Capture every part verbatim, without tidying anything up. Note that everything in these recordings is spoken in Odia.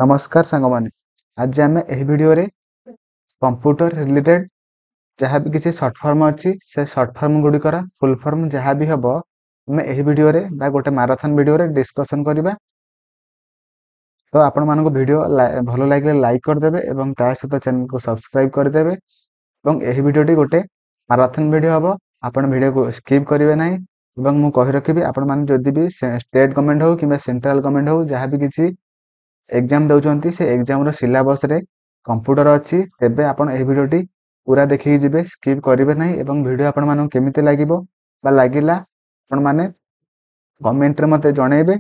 ନମସ୍କାର ସାଙ୍ଗମାନେ, ଆଜି ଆମେ ଏହି ଭିଡ଼ିଓରେ କମ୍ପ୍ୟୁଟର ରିଲେଟେଡ୍ ଯାହା ବି କିଛି ସର୍ଟ ଫର୍ମ ଅଛି, ସେ ସର୍ଟ ଫର୍ମ ଗୁଡ଼ିକର ଫୁଲ୍ ଫର୍ମ ଯାହା ବି ହେବ, ଆମେ ଏହି ଭିଡ଼ିଓରେ ବା ଗୋଟେ ମାରାଥନ୍ ଭିଡ଼ିଓରେ ଡିସ୍କସନ୍ କରିବା। ତ ଆପଣମାନଙ୍କୁ ଭିଡ଼ିଓ ଭଲ ଲାଗିଲେ ଲାଇକ୍ କରିଦେବେ ଏବଂ ତା ସହିତ ଚ୍ୟାନେଲକୁ ସବସ୍କ୍ରାଇବ୍ କରିଦେବେ। ଏବଂ ଏହି ଭିଡ଼ିଓଟି ଗୋଟେ ମାରାଥନ୍ ଭିଡ଼ିଓ ହେବ, ଆପଣ ଭିଡ଼ିଓକୁ ସ୍କିପ୍ କରିବେ ନାହିଁ। ଏବଂ ମୁଁ କହି ରଖିବି, ଆପଣମାନେ ଯଦି ବି ଷ୍ଟେଟ୍ ଗଭର୍ଣ୍ଣମେଣ୍ଟ ହେଉ କିମ୍ବା ସେଣ୍ଟ୍ରାଲ ଗଭର୍ଣ୍ଣମେଣ୍ଟ ହେଉ, ଯାହା ବି କିଛି ଏକ୍ଜାମ୍ ଦେଉଛନ୍ତି, ସେ ଏକ୍ଜାମ୍ର ସିଲାବସ୍ରେ କମ୍ପ୍ୟୁଟର ଅଛି, ତେବେ ଆପଣ ଏହି ଭିଡ଼ିଓଟି ପୁରା ଦେଖିକି ଯିବେ, ସ୍କିପ୍ କରିବେ ନାହିଁ। ଏବଂ ଭିଡ଼ିଓ ଆପଣମାନଙ୍କୁ କେମିତି ଲାଗିବ ବା ଲାଗିଲା, ଆପଣମାନେ କମେଣ୍ଟରେ ମୋତେ ଜଣେଇବେ।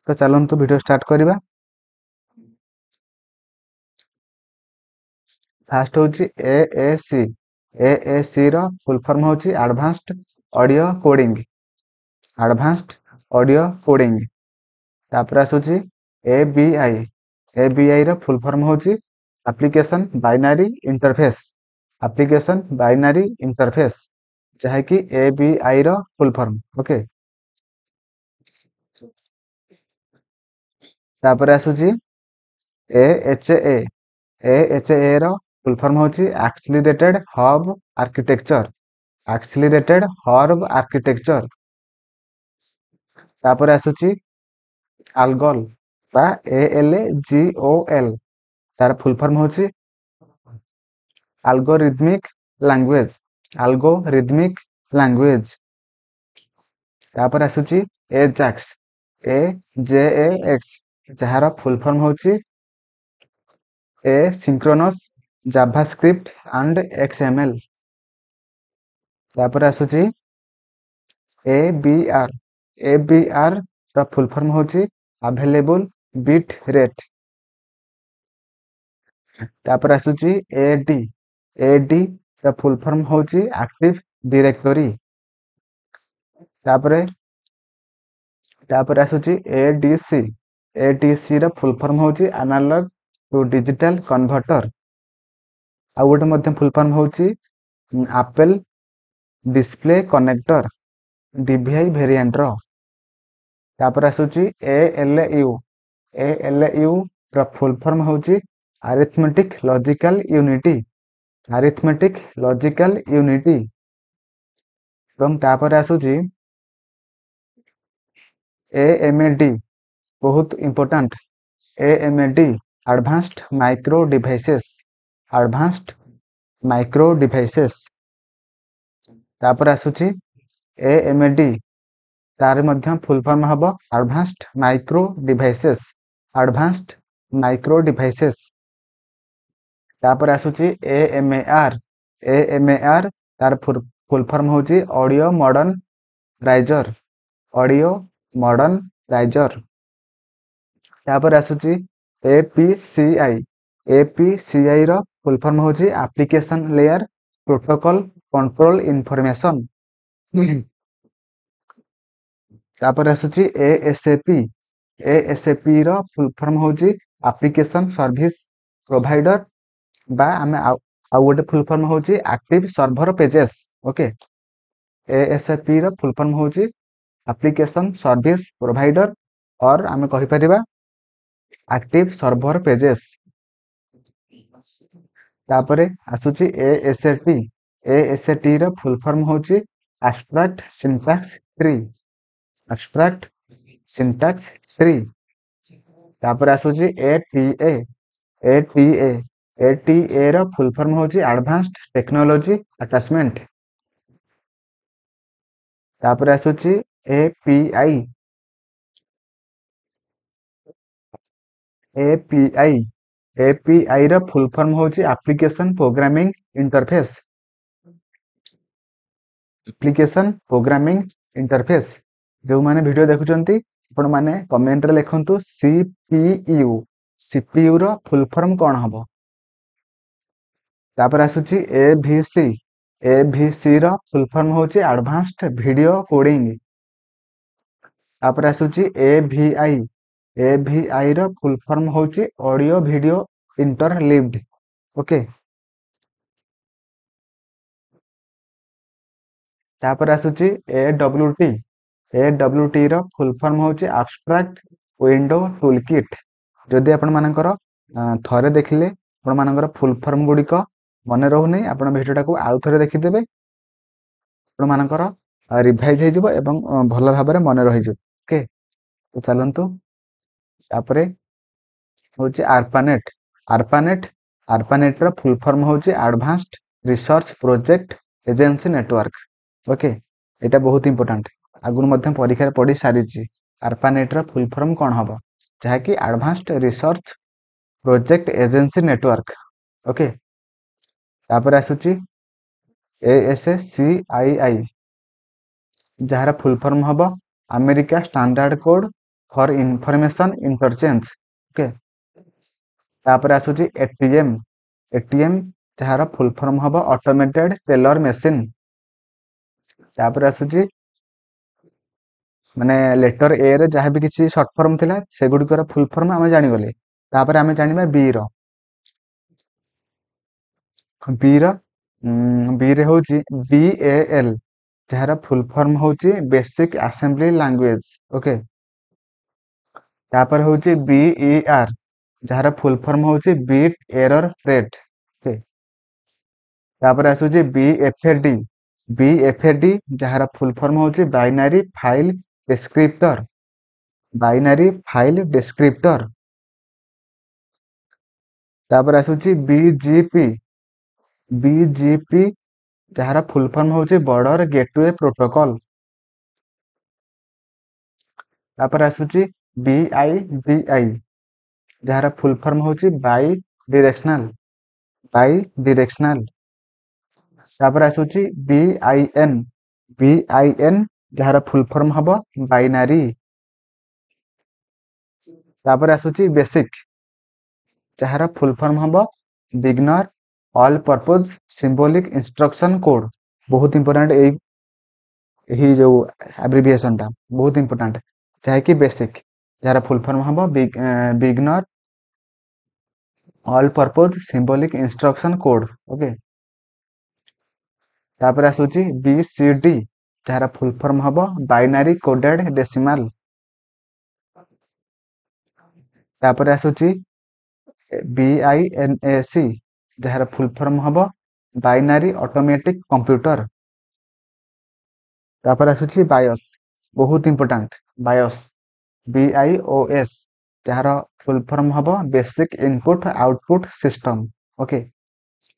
ତ ଚାଲନ୍ତୁ ଭିଡ଼ିଓ ଷ୍ଟାର୍ଟ କରିବା। ଫାଷ୍ଟ ହେଉଛି ଏ A C. A A C ର ଫୁଲ୍ ଫର୍ମ ହେଉଛି advanced audio coding, advanced audio coding. ତାପରେ ଆସୁଛି ଏ ବି I. A B I ର ଫୁଲ୍ ଫର୍ମ ହେଉଛି application binary interface, application binary interface, ଯାହାକି ଏ ବି I ର ଫୁଲ୍ ଫର୍ମ। ଓକେ, ତାପରେ ଆସୁଛି A H A. A H A ର ଫୁଲ୍ ଫର୍ମ ହେଉଛି accelerated hub architecture, accelerated hub architecture. ତାପରେ ଆସୁଛି ଆଲଗଲ ବା A L G O L, ତାର ଫୁଲ୍ ଫର୍ମ ହେଉଛି ଆଲଗୋରିଦମିକ୍ ଲାଙ୍ଗୁଏଜ, ଆଲଗୋରିଦମିକ୍ ଲାଙ୍ଗୁଏଜ। ତାପରେ ଆସୁଛି ଏ ଜାକ୍ସ, ଏ ଜେ ଏ ଏକ୍ସ, ଯାହାର ଫୁଲ୍ ଫର୍ମ ହେଉଛି asynchronous JavaScript and X M L. ତାପରେ ଆସୁଛି ଏ ବି ଆର୍। ଏ ବି ଆର୍ ର ଫୁଲ୍ ଫର୍ମ ହେଉଛି ଆଭେଲେବୁଲ୍ ବିଟ୍ ରେଟ୍। ତାପରେ ଆସୁଛି ଏ ଡି। ଏ ଡି ର ଫୁଲ୍ ଫର୍ମ ହେଉଛି ଆକ୍ଟିଭ ଡିରେକ୍ଟୋରୀ। ତାପରେ ତାପରେ ଆସୁଛି A D C. A D C ର ଫୁଲ୍ ଫର୍ମ ହେଉଛି ଆନାଲଗ ଟୁ ଡିଜିଟାଲ କନଭର୍ଟର। ଆଉ ଗୋଟେ ମଧ୍ୟ ଫୁଲ୍ ଫର୍ମ ହେଉଛି ଆପେଲ ଡିସପ୍ଲେ କନେକ୍ଟର, ଡିଭିଆଇ ଭେରିଏଣ୍ଟର। ତାପରେ ଆସୁଛି A L U. A L U ର ଫୁଲ୍ ଫର୍ମ ହେଉଛି arithmetic logical unit, arithmetic logical unit. ଏବଂ ତାପରେ ଆସୁଛି ଏ ଏମ୍ ଏ ଡି, ବହୁତ important, A M A D, advanced micro devices, advanced micro devices. ତାପରେ ଆସୁଛି ଏ ଏମ୍ ଏ ଡି, ତାର ମଧ୍ୟ ଫୁଲ୍ ଫର୍ମ ହେବ advanced micro devices, advanced micro devices. ତାପରେ ଆସୁଛି ଏ M A R. A M A ଆର୍ ତାର ଫୁଲ୍ ଫର୍ମ ହେଉଛି audio modern riser, audio modern riser. ତାପରେ ଆସୁଛି A P C I. A P C I ର ଫୁଲ୍ ଫର୍ମ ହେଉଛି application layer protocol control information. ତାପରେ ଆସୁଛି A S A P. A S A P ର ଫୁଲ୍ ଫର୍ମ ହେଉଛି ଆପ୍ଲିକେସନ୍ ସର୍ଭିସ ପ୍ରୋଭାଇଡର, ବା ଆମେ ଆଉ ଆଉ ଗୋଟେ ଫୁଲ୍ ଫର୍ମ ହେଉଛି active server pages. Okay, A S A P ର ଫୁଲ୍ ଫର୍ମ ହେଉଛି ଆପ୍ଲିକେସନ୍ ସର୍ଭିସ ପ୍ରୋଭାଇଡର, ଅର୍ ଆମେ କହିପାରିବା ଆକ୍ଟିଭ ସର୍ଭର ପେଜେସ୍। ତାପରେ ଆସୁଛି A S A T. A S A ଟି ର ଫୁଲ୍ ଫର୍ମ ହେଉଛି abstract syntax tree, abstract syntax tree. ତାପରେ ଆସୁଛି ଏ ଟି ଏ। ଏ ଟି ଏ, ଏ ଟି ଏ ର ଫୁଲ୍ ଫର୍ମ ହେଉଛି ଆଡଭାନ୍ସଡ ଟେକ୍ନୋଲୋଜି ଆଟାଚମେଣ୍ଟ। ତାପରେ ଆସୁଛି A P I. A P I, A P I ର ଫୁଲ୍ ଫର୍ମ ହେଉଛି application programming interface, application programming interface. ଯେଉଁମାନେ ଭିଡ଼ିଓ ଦେଖୁଛନ୍ତି, ଆପଣମାନେ କମେଣ୍ଟରେ ଲେଖନ୍ତୁ C P U, C P your full form କ'ଣ ହେବ। ତାପରେ ଆସୁଛି A V C. A V C ର ଫୁଲ୍ ଫର୍ମ ହେଉଛି ଆଡଭାନ୍ସଡ ଭିଡ଼ିଓ କୋଡ଼ିଂ। ତାପରେ ଆସୁଛି A V I. A V I ର ଫୁଲ୍ ଫର୍ମ ହେଉଛି ଅଡ଼ିଓ ଭିଡ଼ିଓ ଇଣ୍ଟରଲିଭ୍ଡ। ଓକେ, ତାପରେ ଆସୁଛି A W T. A W T ର ଫୁଲ୍ ଫର୍ମ ହେଉଛି abstract window toolkit, ଯଦି ଆପଣମାନଙ୍କର ଥରେ ଦେଖିଲେ ଆପଣମାନଙ୍କର ଫୁଲ୍ ଫର୍ମ ଗୁଡ଼ିକ ମନେ ରହୁନି, ଆପଣ ଭିଡ଼ିଓଟାକୁ ଆଉ ଥରେ ଦେଖିଦେବେ, ଆପଣମାନଙ୍କର ରିଭାଇଜ୍ ହେଇଯିବ ଏବଂ ଭଲ ଭାବରେ ମନେ ରହିଯିବ। ଓକେ, ତ ଚାଲନ୍ତୁ ତାପରେ ହେଉଛି ଆର୍ପାନେଟ୍। ଆର୍ପାନେଟ୍ ଆର୍ପାନେଟ୍ର ଫୁଲ୍ ଫର୍ମ ହେଉଛି advanced research project agency network. Okay, ଏଇଟା ବହୁତ ଇମ୍ପୋର୍ଟାଣ୍ଟ, ଆଗରୁ ମଧ୍ୟ ପରୀକ୍ଷାରେ ପଡ଼ି ସାରିଛି। ଆର୍ପାନେଟ୍ର ଫୁଲ୍ ଫର୍ମ କ'ଣ ହେବ? ଯାହାକି advanced research project agency network. Okay, ତାପରେ ଆସୁଛି A S C I I, ଯାହାର ଫୁଲ୍ ଫର୍ମ ହେବ America standard code for information interchange. Okay, ତାପରେ ଆସୁଛି ଏଟିଏମ୍। ଏଟିଏମ୍ ଯାହାର ଫୁଲ୍ ଫର୍ମ ହେବ ଅଟୋମେଟେଡ୍ ଟେଲର ମେସିନ୍। ତାପରେ ଆସୁଛି ମାନେ ଲେଟର ଏ ରେ ଯାହା ବି କିଛି ସର୍ଟ ଫର୍ମ ଥିଲା ସେଗୁଡ଼ିକର ଫୁଲ୍ ଫର୍ମ ଆମେ ଜାଣିଗଲେ। ତାପରେ ଆମେ ଜାଣିବା ବି ର। ବି ର ବି ରେ ହେଉଛି ବି ଏ ଏଲ୍, ଯାହାର ଫୁଲ୍ ଫର୍ମ ହେଉଛି ବେସିକ୍ ଆସେମ୍ବଲି ଲାଙ୍ଗୁଏଜ। ଓକେ, ତାପରେ ହେଉଛି ବି ଇ ଆର୍, ଯାହାର ଫୁଲ୍ ଫର୍ମ ହେଉଛି ବିଟ୍ ଏରର ରେଟ୍। ଓକେ, ତାପରେ ଆସୁଛି B F A D. B F A D ଯାହାର ଫୁଲ୍ ଫର୍ମ ହେଉଛି binary file descriptor, binary file descriptor. ତାପରେ ଆସୁଛି ବି ଜି ପି। ବି ଜି ପି ଯାହାର ଫୁଲ୍ ଫର୍ମ ହେଉଛି ବର୍ଡର ଗେଟୱେ ପ୍ରୋଟୋକଲ୍। ତାପରେ ଆସୁଛି ବି I D I, ଯାହାର ଫୁଲ୍ ଫର୍ମ ହେଉଛି ବାଇ ଡିରେକ୍ସନାଲ, ବାଇ ଡିରେକ୍ସନାଲ। ତାପରେ ଆସୁଛି B I N. B I N ଯାହାର ଫୁଲ୍ ଫର୍ମ ହେବ ବାଇନାରୀ। ତାପରେ ଆସୁଛି ବେସିକ୍, ଯାହାର ଫୁଲ୍ ଫର୍ମ ହେବ beginner all purpose symbolic instruction code. ବହୁତ ଇମ୍ପୋର୍ଟାଣ୍ଟ ଏଇ ଏହି ଯେଉଁ ଆବ୍ରିଭିଏସନଟା ବହୁତ ଇମ୍ପୋର୍ଟାଣ୍ଟ, ଯାହାକି ବେସିକ୍, ଯାହାର ଫୁଲ୍ ଫର୍ମ ହେବ beginner all purpose symbolic instruction code. Okay, ତାପରେ ଆସୁଛି ବି ସି ଡି, ଯାହାର ଫୁଲ୍ ଫର୍ମ ହେବ ବାଇନାରୀ କୋଡେଡ୍ ଡେସିମାଲ। ତାପରେ ଆସୁଛି B I N A C, ଯାହାର ଫୁଲ୍ ଫର୍ମ ହେବ ବାଇନାରୀ ଅଟୋମେଟିକ୍ କମ୍ପ୍ୟୁଟର। ତାପରେ ଆସୁଛି ବାୟସ୍, ବହୁତ important BIOS, B I O S, ଯାହାର ଫୁଲ୍ ଫର୍ମ ହେବ basic input output system. Okay,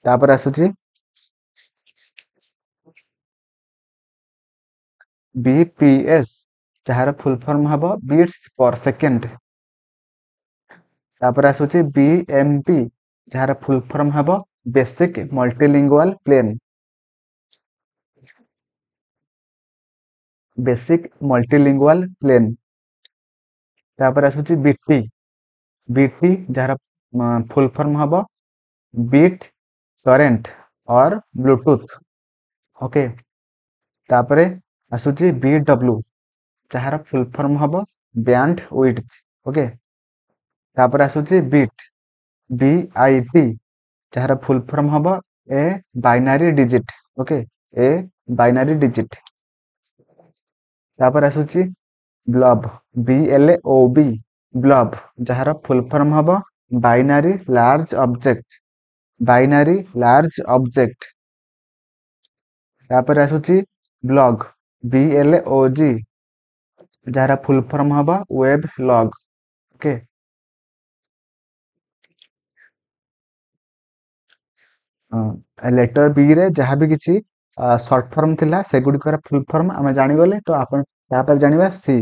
ତାପରେ ଆସୁଛି ବି ପି ଏସ୍, ଯାହାର ଫୁଲ୍ ଫର୍ମ ହେବ ବିଟ୍ସ ପର ସେକେଣ୍ଡ। ତାପରେ ଆସୁଛି ବି ଏମ୍ ପି, ଯାହାର ଫୁଲ୍ ଫର୍ମ ହେବ basic multilingual plane, basic multilingual plane. ତାପରେ ଆସୁଛି ବିଟି। ବିଟି ଯାହାର ଫୁଲ୍ ଫର୍ମ ହେବ bit torrent or Bluetooth. Okay, ତାପରେ ଆସୁଛି ବି ଡବ୍ଲୁ, ଯାହାର ଫୁଲ୍ ଫର୍ମ ହେବ ବ୍ୟାଣ୍ଡ ୱିଡ୍ଥ। ଓକେ, ତାପରେ ଆସୁଛି ବିଟ୍, ବି I T, ଯାହାର ଫୁଲ୍ ଫର୍ମ ହେବ a binary digit. Okay, a binary digit. ତାପରେ ଆସୁଛି blob, B L O B, blob, ଯାହାର ଫୁଲ୍ ଫର୍ମ ହେବ binary large object, binary large object. ତାପରେ ଆସୁଛି blog, B L O G, ଯାହାର ଫୁଲ୍ ଫର୍ମ ହେବ ୱେବ୍ ଲଗ୍। ଓକେ, ଲେଟର ବି ରେ ଯାହା ବି କିଛି ସର୍ଟ ଫର୍ମ ଥିଲା ସେଗୁଡ଼ିକର ଫୁଲ୍ ଫର୍ମ ଆମେ ଜାଣିଗଲେ। ତ ଆପଣ ତାପରେ ଜାଣିବା ସି।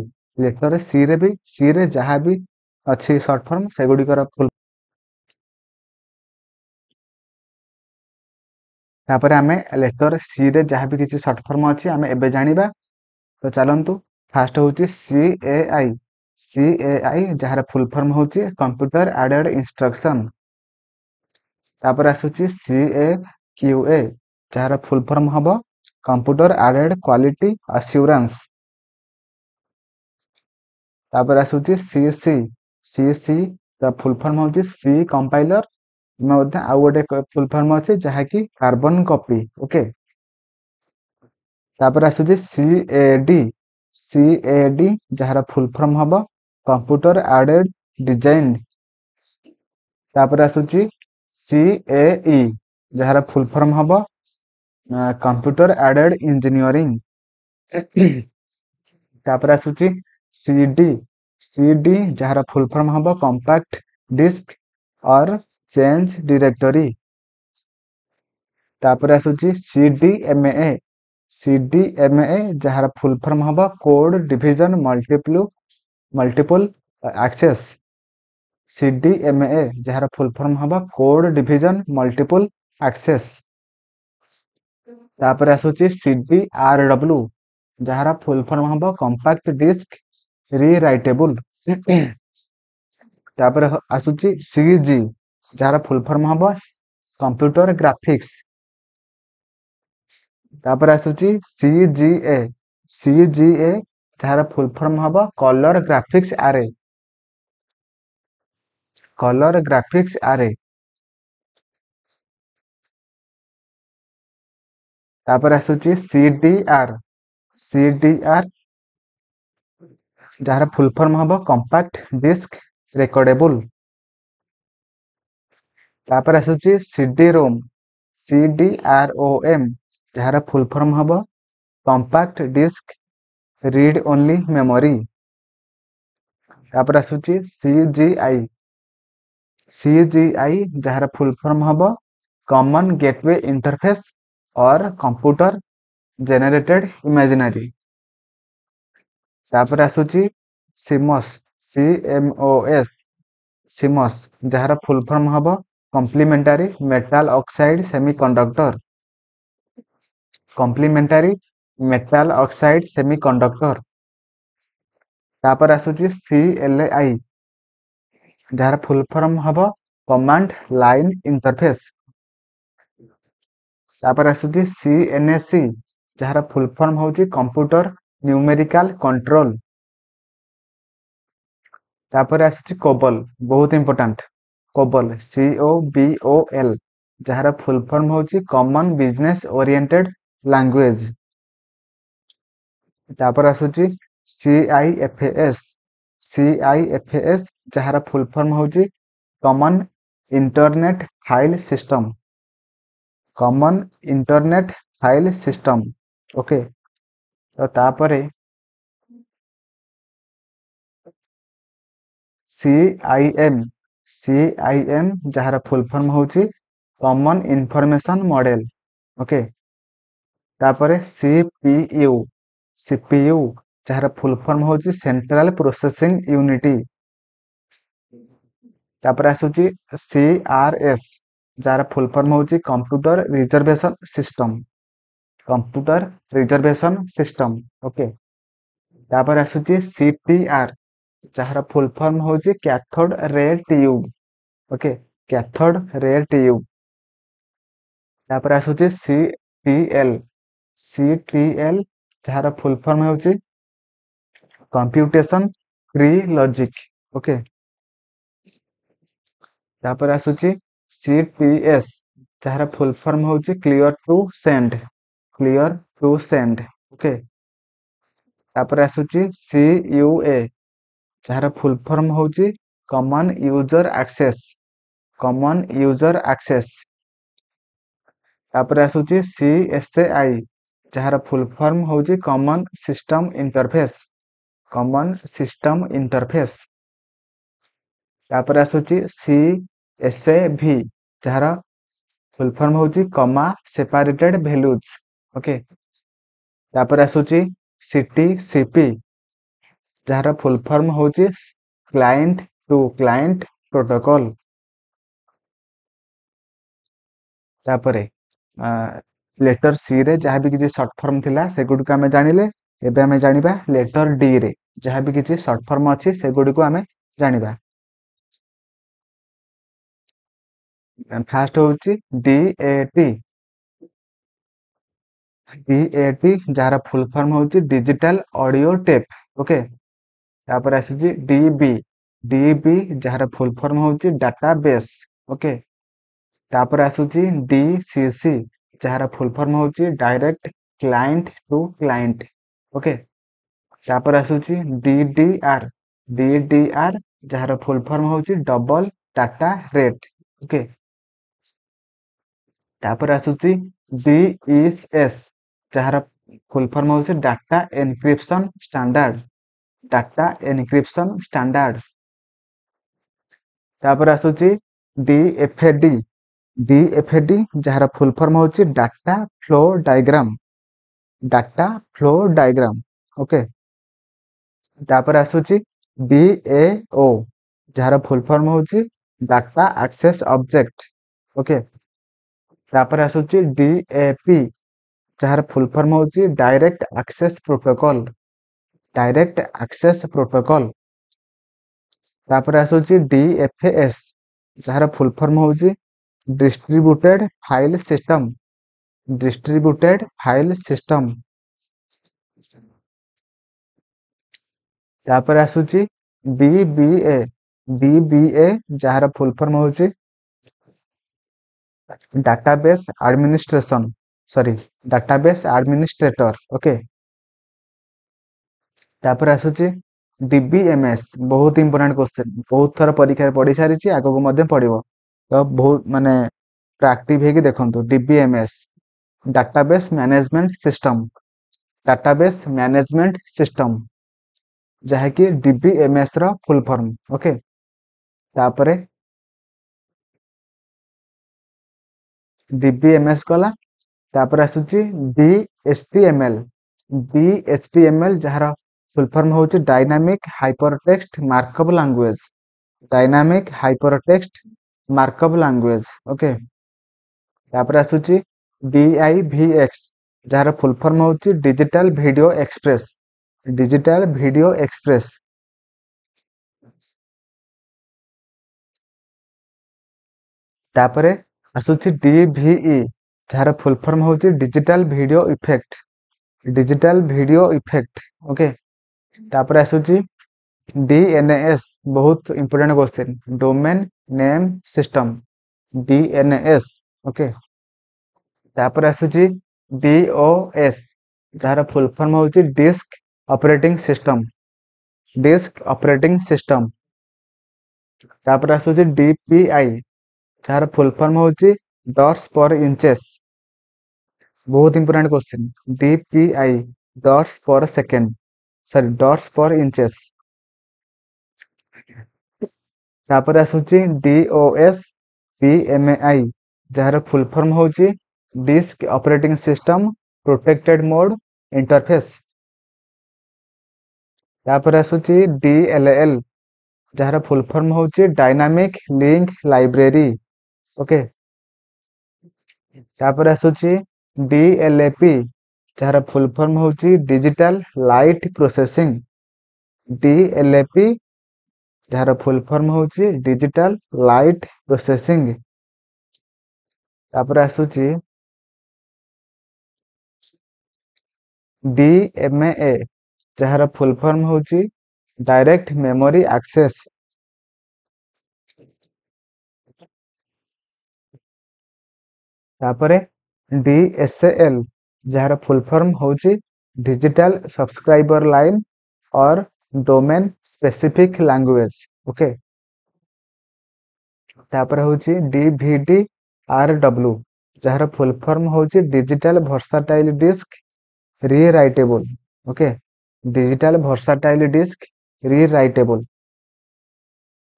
ଲେଟର ସି ରେ ବି, ସି ରେ ଯାହା ବି ଅଛି ସର୍ଟ ଫର୍ମ ସେଗୁଡ଼ିକର ଫୁଲ୍। ତାପରେ ଆମେ ଲେଟର ସି ରେ ଯାହା ବି କିଛି ସର୍ଟ ଫର୍ମ ଅଛି ଆମେ ଏବେ ଜାଣିବା। ତ ଚାଲନ୍ତୁ, ଫାଷ୍ଟ ହେଉଛି C A I. C A I ଯାହାର ଫୁଲ୍ ଫର୍ମ ହେଉଛି କମ୍ପ୍ୟୁଟର ଆଡେଡ୍ ଇନଷ୍ଟ୍ରକ୍ସନ୍। ତାପରେ ଆସୁଛି ସି ଏ କ୍ୟୁ ଏ, ଯାହାର ଫୁଲ୍ ଫର୍ମ ହେବ କମ୍ପ୍ୟୁଟର ଆଡେଡ୍ କ୍ୱାଲିଟି ଆସ୍ୟୁରାନ୍ସ। ତାପରେ ଆସୁଛି ସି ସି। ସି ସି ତା ଫୁଲ୍ ଫର୍ମ ହେଉଛି ସି କମ୍ପାଇଲର। ମଧ୍ୟ ଆଉ ଗୋଟେ ଫୁଲ୍ ଫର୍ମ ଅଛି ଯାହାକି କାର୍ବନ କପି। ଓକେ, ତାପରେ ଆସୁଛି C A D. C A D ଯାହାର ଫୁଲ୍ ଫର୍ମ ହେବ କମ୍ପ୍ୟୁଟର ଆଡେଡ୍ ଡିଜାଇନ୍। ତାପରେ ଆସୁଛି ସି ଏ ଇ, ଯାହାର ଫୁଲ ଫର୍ମ ହବ କମ୍ପ୍ୟୁଟର ଆଡେଡ୍ ଇଞ୍ଜିନିୟରିଂ। ତାପରେ ଆସୁଛି ସି ଡି, ସି ଡି ଯାହାର ଫୁଲ ଫର୍ମ ହବ compact disc or change directory. ତାପରେ ଆସୁଛି C D M A, C D M A ଯାହାର ଫୁଲ ଫର୍ମ ହବ code division multiple multiple access. C D M A ଯାହାର ଫୁଲ ଫର୍ମ ହବ କୋଡ୍ ଡିଭିଜନ ମଲ୍ଟିପୁଲ ଆକ୍ସେସ୍। ତାପରେ ଆସୁଛି ସି ଡି ଆର ଡବ୍ଲୁ, ଯାହାର ଫୁଲ ଫର୍ମ ହବ କମ୍ପାକ୍ଟ ଡିସ୍କ ରିରାଇଟେବୁଲ। ତାପରେ ଆସୁଛି ସି ଜି, ଯାହାର ଫୁଲ ଫର୍ମ ହବ କମ୍ପ୍ୟୁଟର ଗ୍ରାଫିକ୍ସ। ତାପରେ ଆସୁଛି C G A, C G A ଯାହାର ଫୁଲ ଫର୍ମ ହବ colour graphics array, colour graphics array. ତାପରେ ଆସୁଛି C D R, C D R ଯାହାର ଫୁଲ ଫର୍ମ ହବ କମ୍ପାକ୍ଟ ଡିସ୍କ ରେକର୍ଡେବୁଲ। ତାପରେ ଆସୁଛି C D ROM, C D R O M ଯାହାର ଫୁଲ ଫର୍ମ ହବ compact disc read only memory. ତାପରେ ଆସୁଛି C G I, C G I ଯାହାର ଫୁଲ ଫର୍ମ ହବ common gateway interface or computer generated imaginary. ତାପରେ ଆସୁଛି CMOS, C M O S, CMOS ଯାହାର ଫୁଲ ଫର୍ମ ହବ complementary metal oxide semiconductor, complementary metal oxide semiconductor. ତାପରେ ଆସୁଛି ସି ଏଲ I, ଯାହାର ଫୁଲ ଫର୍ମ ହବ କମାଣ୍ଡ ଲାଇନ ଇଣ୍ଟରଫେସ୍। ତାପରେ ଆସୁଛି ସି ଏନ୍ ଏସ୍ ସି, ଯାହାର ଫୁଲ ଫର୍ମ ହେଉଛି କମ୍ପ୍ୟୁଟର ନ୍ୟୁମେରିକାଲ କଣ୍ଟ୍ରୋଲ। ତାପରେ ଆସୁଛି କୋବଲ, ବହୁତ important, COBOL, C O B O L, ଯାହାର ଫୁଲ ଫର୍ମ ହେଉଛି କମନ ବିଜନେସ୍ ଓରିଏଣ୍ଟେଡ ଲାଙ୍ଗୁଏଜ। ତାପରେ ଆସୁଛି C I F S, C I F S ଯାହାର ଫୁଲ ଫର୍ମ ହେଉଛି common internet file system, common internet file system. Okay, ତ ତାପରେ C I M, C I M ଯାହାର ଫୁଲ ଫର୍ମ ହେଉଛି କମନ ଇନଫର୍ମେସନ ମଡେଲ। ଓକେ, ତାପରେ C P U, C P U ଯାହାର ଫୁଲ ଫର୍ମ ହେଉଛି ସେଣ୍ଟ୍ରାଲ ପ୍ରୋସେସିଂ ୟୁନିଟି। ତାପରେ ଆସୁଛି ସି ଆର ଏସ୍, ଯାହାର ଫୁଲ ଫର୍ମ ହେଉଛି computer reservation system, computer reservation system. Okay, ତାପରେ ଆସୁଛି ସି ଟି ଆର, ଯାହାର ଫୁଲ ଫର୍ମ ହେଉଛି cathode ray tube. Okay, cathode ray tube. ତାପରେ ଆସୁଛି C T L, C T L ଯାହାର ଫୁଲ ଫର୍ମ ହେଉଛି କମ୍ପ୍ୟୁଟେସନ ଟ୍ରି ଲଜିକ। ଓକେ, ତାପରେ ଆସୁଛି ସି ଟି ଏସ୍, ଯାହାର ଫୁଲ ଫର୍ମ ହେଉଛି clear to send, clear to send. Okay, ତାପରେ ଆସୁଛି ସି ୟୁ ଏ, ଯାହାର ଫୁଲ ଫର୍ମ ହେଉଛି common user access, common user access. ତାପରେ ଆସୁଛି ସି ଏସ୍ ଏ I, ଯାହାର ଫୁଲ ଫର୍ମ ହେଉଛି common system interface, common system interface. ତାପରେ ଆସୁଛି ସି ଏସ୍ ଏ ଭି, ଯାହାର ଫୁଲ ଫର୍ମ ହେଉଛି କମା ସେପାରେଟେଡ ଭ୍ୟାଲୁଜ। ଓକେ, ତାପରେ ଆସୁଛି ସି ଟି ସି ପି, ଯାହାର ଫୁଲ ଫର୍ମ ହେଉଛି କ୍ଲାଏଣ୍ଟ ଟୁ କ୍ଲାଏଣ୍ଟ ପ୍ରୋଟୋକଲ। ତାପରେ ଲେଟର ସି ରେ ଯାହା ବି କିଛି ସର୍ଟ ଫର୍ମ ଥିଲା ସେଗୁଡ଼ିକୁ ଆମେ ଜାଣିଲେ। ଏବେ ଆମେ ଜାଣିବା ଲେଟର ଡି ରେ ଯାହା ବି କିଛି ସର୍ଟ ଫର୍ମ ଅଛି ସେଗୁଡ଼ିକୁ ଆମେ ଜାଣିବା। ଫାଷ୍ଟ ହେଉଛି D A T, D A T ଯାହାର ଫୁଲ ଫର୍ମ ହେଉଛି ଡିଜିଟାଲ ଅଡିଓ ଟେପ୍। ଓକେ, ତାପରେ ଆସୁଛି ଡି ବି, ଡି ବି ଯାହାର ଫୁଲ ଫର୍ମ ହେଉଛି ଡାଟା ବେସ୍। ଓକେ, ତାପରେ ଆସୁଛି ଡି ସି ସି, ଯାହାର ଫୁଲ ଫର୍ମ ହେଉଛି direct client to client. Okay, ତାପରେ ଆସୁଛି D D R, D D R ଯାହାର ଫୁଲ ଫର୍ମ ହେଉଛି ଡବଲ ଡାଟା ରେଟ୍। ଓକେ, ତାପରେ ଆସୁଛି ଡିଇଏସ୍, ଯାହାର ଫୁଲ ଫର୍ମ ହେଉଛି data encryption standard, data encryption standard. ତାପରେ ଆସୁଛି ଡିଏଫଏଡି, ଡିଏଫଏଡି ଯାହାର ଫୁଲ ଫର୍ମ ହେଉଛି data flow diagram, data flow diagram. Okay, ତାପରେ ଆସୁଛି ଡିଏଓ, ଯାହାର ଫୁଲ ଫର୍ମ ହେଉଛି ଡାଟା ଆକ୍ସେସ୍ ଅବଜେକ୍ଟ। ଓକେ, ତାପରେ ଆସୁଛି ଡିଏପି, ଯାହାର ଫୁଲ ଫର୍ମ ହେଉଛି direct access protocol, direct access protocol. ତାପରେ ଆସୁଛି ଡିଏଫଏସ୍, ଯାହାର ଫୁଲ ଫର୍ମ ହେଉଛି distributed file system, distributed file system. ତାପରେ ଆସୁଛି ଡିବିଏ, ଡିବିଏ ଯାହାର ଫୁଲ ଫର୍ମ ହେଉଛି database administration, sorry database administrator. Okay, ତାପରେ ଆସୁଛି ଡିବିଏମଏସ୍, ବହୁତ ଇମ୍ପୋର୍ଟାଣ୍ଟ କ୍ୱେଶ୍ଚନ, ବହୁତ ଥର ପରୀକ୍ଷାରେ ପଢି ସାରିଛି, ଆଗକୁ ମଧ୍ୟ ପଡିବ, ତ ବହୁତ ମାନେ ଆକ୍ଟିଭ ହେଇକି ଦେଖନ୍ତୁ। DBMS database management system, database management system ଯାହାକି ଡିବିଏମଏସ୍ ର ଫୁଲ ଫର୍ମ। ଓକେ, ତାପରେ ଡିବିଏମଏସ୍ ଗଲା। ତାପରେ ଆସୁଛି ଡିଏଚଟିଏମଏଲ, ଡିଏଚଟିଏମଏଲ ଯାହାର ଫୁଲ ଫର୍ମ ହେଉଛି dynamic hypertext markup language, dynamic hypertext markup language. Okay, ତାପରେ ଆସୁଛି ଡିଆଇଭିଏକ୍ସ, ଯାହାର ଫୁଲ ଫର୍ମ ହେଉଛି digital video express, digital video express. ତାପରେ ଆସୁଛି ଡିଭିଇ, ଯାହାର ଫୁଲ ଫର୍ମ ହେଉଛି digital video effect, digital video effect. Okay, ତାପରେ ଆସୁଛି ଡିଏନଏସ୍, ବହୁତ important question, domain name system, DNS. Okay, ତାପରେ ଆସୁଛି ଡିଓଏସ୍, ଯାହାର ଫୁଲ ଫର୍ମ ହେଉଛି disk operating system, disk operating system. ତାପରେ ଆସୁଛି ଡିପିଆଇ, ଯାହାର ଫୁଲ ଫର୍ମ ହେଉଛି ଡଟ୍ସ ପର ଇଞ୍ଚେସ୍, ବହୁତ important question, DPI dots per second, sorry dots per inches. ତାପରେ ଆସୁଛି ଡିଓଏସ୍ ପିଏମଆଇ, ଯାହାର ଫୁଲ ଫର୍ମ ହେଉଛି disk operating system protected mode interface. ତାପରେ ଆସୁଛି ଡିଏଲଏଲ, ଯାହାର ଫୁଲ ଫର୍ମ ହେଉଛି ଡାଇନାମିକ ଲିଙ୍କ ଲାଇବ୍ରେରୀ। ଓକେ, ତାପରେ ଆସୁଛି ଡିଏଲଏପି, ଯାହାର ଫୁଲ ଫର୍ମ ହେଉଛି ଡିଜିଟାଲ ଲାଇଟ୍ ପ୍ରୋସେସିଂ, ଡିଏଲଏପି ଯାହାର ଫୁଲ ଫର୍ମ ହେଉଛି ଡିଜିଟାଲ ଲାଇଟ୍ ପ୍ରୋସେସିଂ। ତାପରେ ଆସୁଛି ଡିଏମଏ, ଯାହାର ଫୁଲ ଫର୍ମ ହେଉଛି ଡାଇରେକ୍ଟ ମେମୋରି ଆକ୍ସେସ୍। ତାପରେ ଡିଏସଏଲ, ଯାହାର ଫୁଲ ଫର୍ମ ହେଉଛି digital subscriber line or domain specific language. Okay, ତାପରେ ହେଉଛି ଡିଭିଡି ଆର ଡବ୍ଲୁ, ଯାହାର ଫୁଲ ଫର୍ମ ହେଉଛି digital versatile disc rewritable. Okay, digital versatile disc rewritable.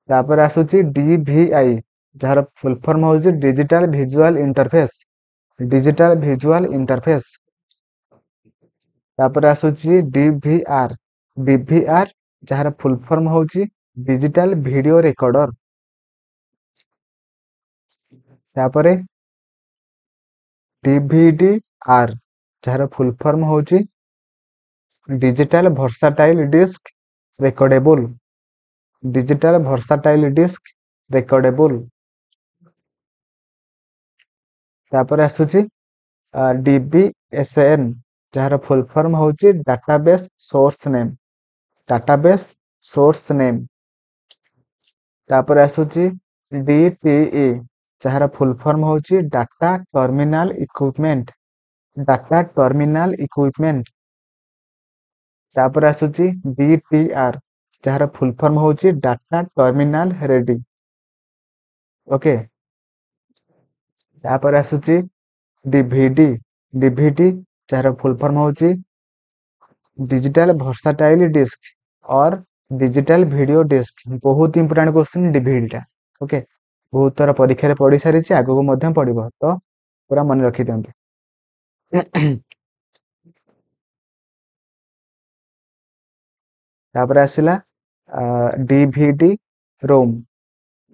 ତାପରେ ଆସୁଛି ଡିଭିଆଇ, ଯାହାର ଫୁଲ ଫର୍ମ ହେଉଛି digital visual interface, digital visual interface. ତାପରେ ଆସୁଛି ଡିଭିଆର, ଡିଭିଆର ଯାହାର ଫୁଲ ଫର୍ମ ହେଉଛି ଡିଜିଟାଲ ଭିଡିଓ ରେକର୍ଡର। ତାପରେ ଡିଭିଡିଆର, ଯାହାର ଫୁଲ ଫର୍ମ ହେଉଛି digital versatile disc recordable, digital versatile disc recordable. ତାପରେ ଆସୁଛି ଡିବିଏସଏନ୍, ଯାହାର ଫୁଲ ଫର୍ମ ହେଉଛି database source name, database source name. ତାପରେ ଆସୁଛି ଡିଟିଇ, ଯାହାର ଫୁଲ ଫର୍ମ ହେଉଛି data terminal equipment, data terminal equipment. ତାପରେ ଆସୁଛି ଡିଟିଆର, ଯାହାର ଫୁଲ ଫର୍ମ ହେଉଛି ଡାଟା ଟର୍ମିନାଲ ରେଡି। ଓକେ, ତାପରେ ଆସୁଛି ଡିଭିଡି। ଡିଭିଡି ଯାହାର ଫୁଲ ଫର୍ମ ହେଉଛି digital versatile disc or digital video disc. ବହୁତ ଇମ୍ପୋର୍ଟାଣ୍ଟ କ୍ୱେଶ୍ଚିନ୍ ଡିଭିଡିଟା। ଓକେ, ବହୁତ ଥର ପରୀକ୍ଷାରେ ପଡ଼ି ସାରିଛି, ଆଗକୁ ମଧ୍ୟ ପଡ଼ିବ, ତ ପୁରା ମନେ ରଖିଦିଅନ୍ତୁ। ତାପରେ ଆସିଲା ଡିଭିଡି ରୋମ୍,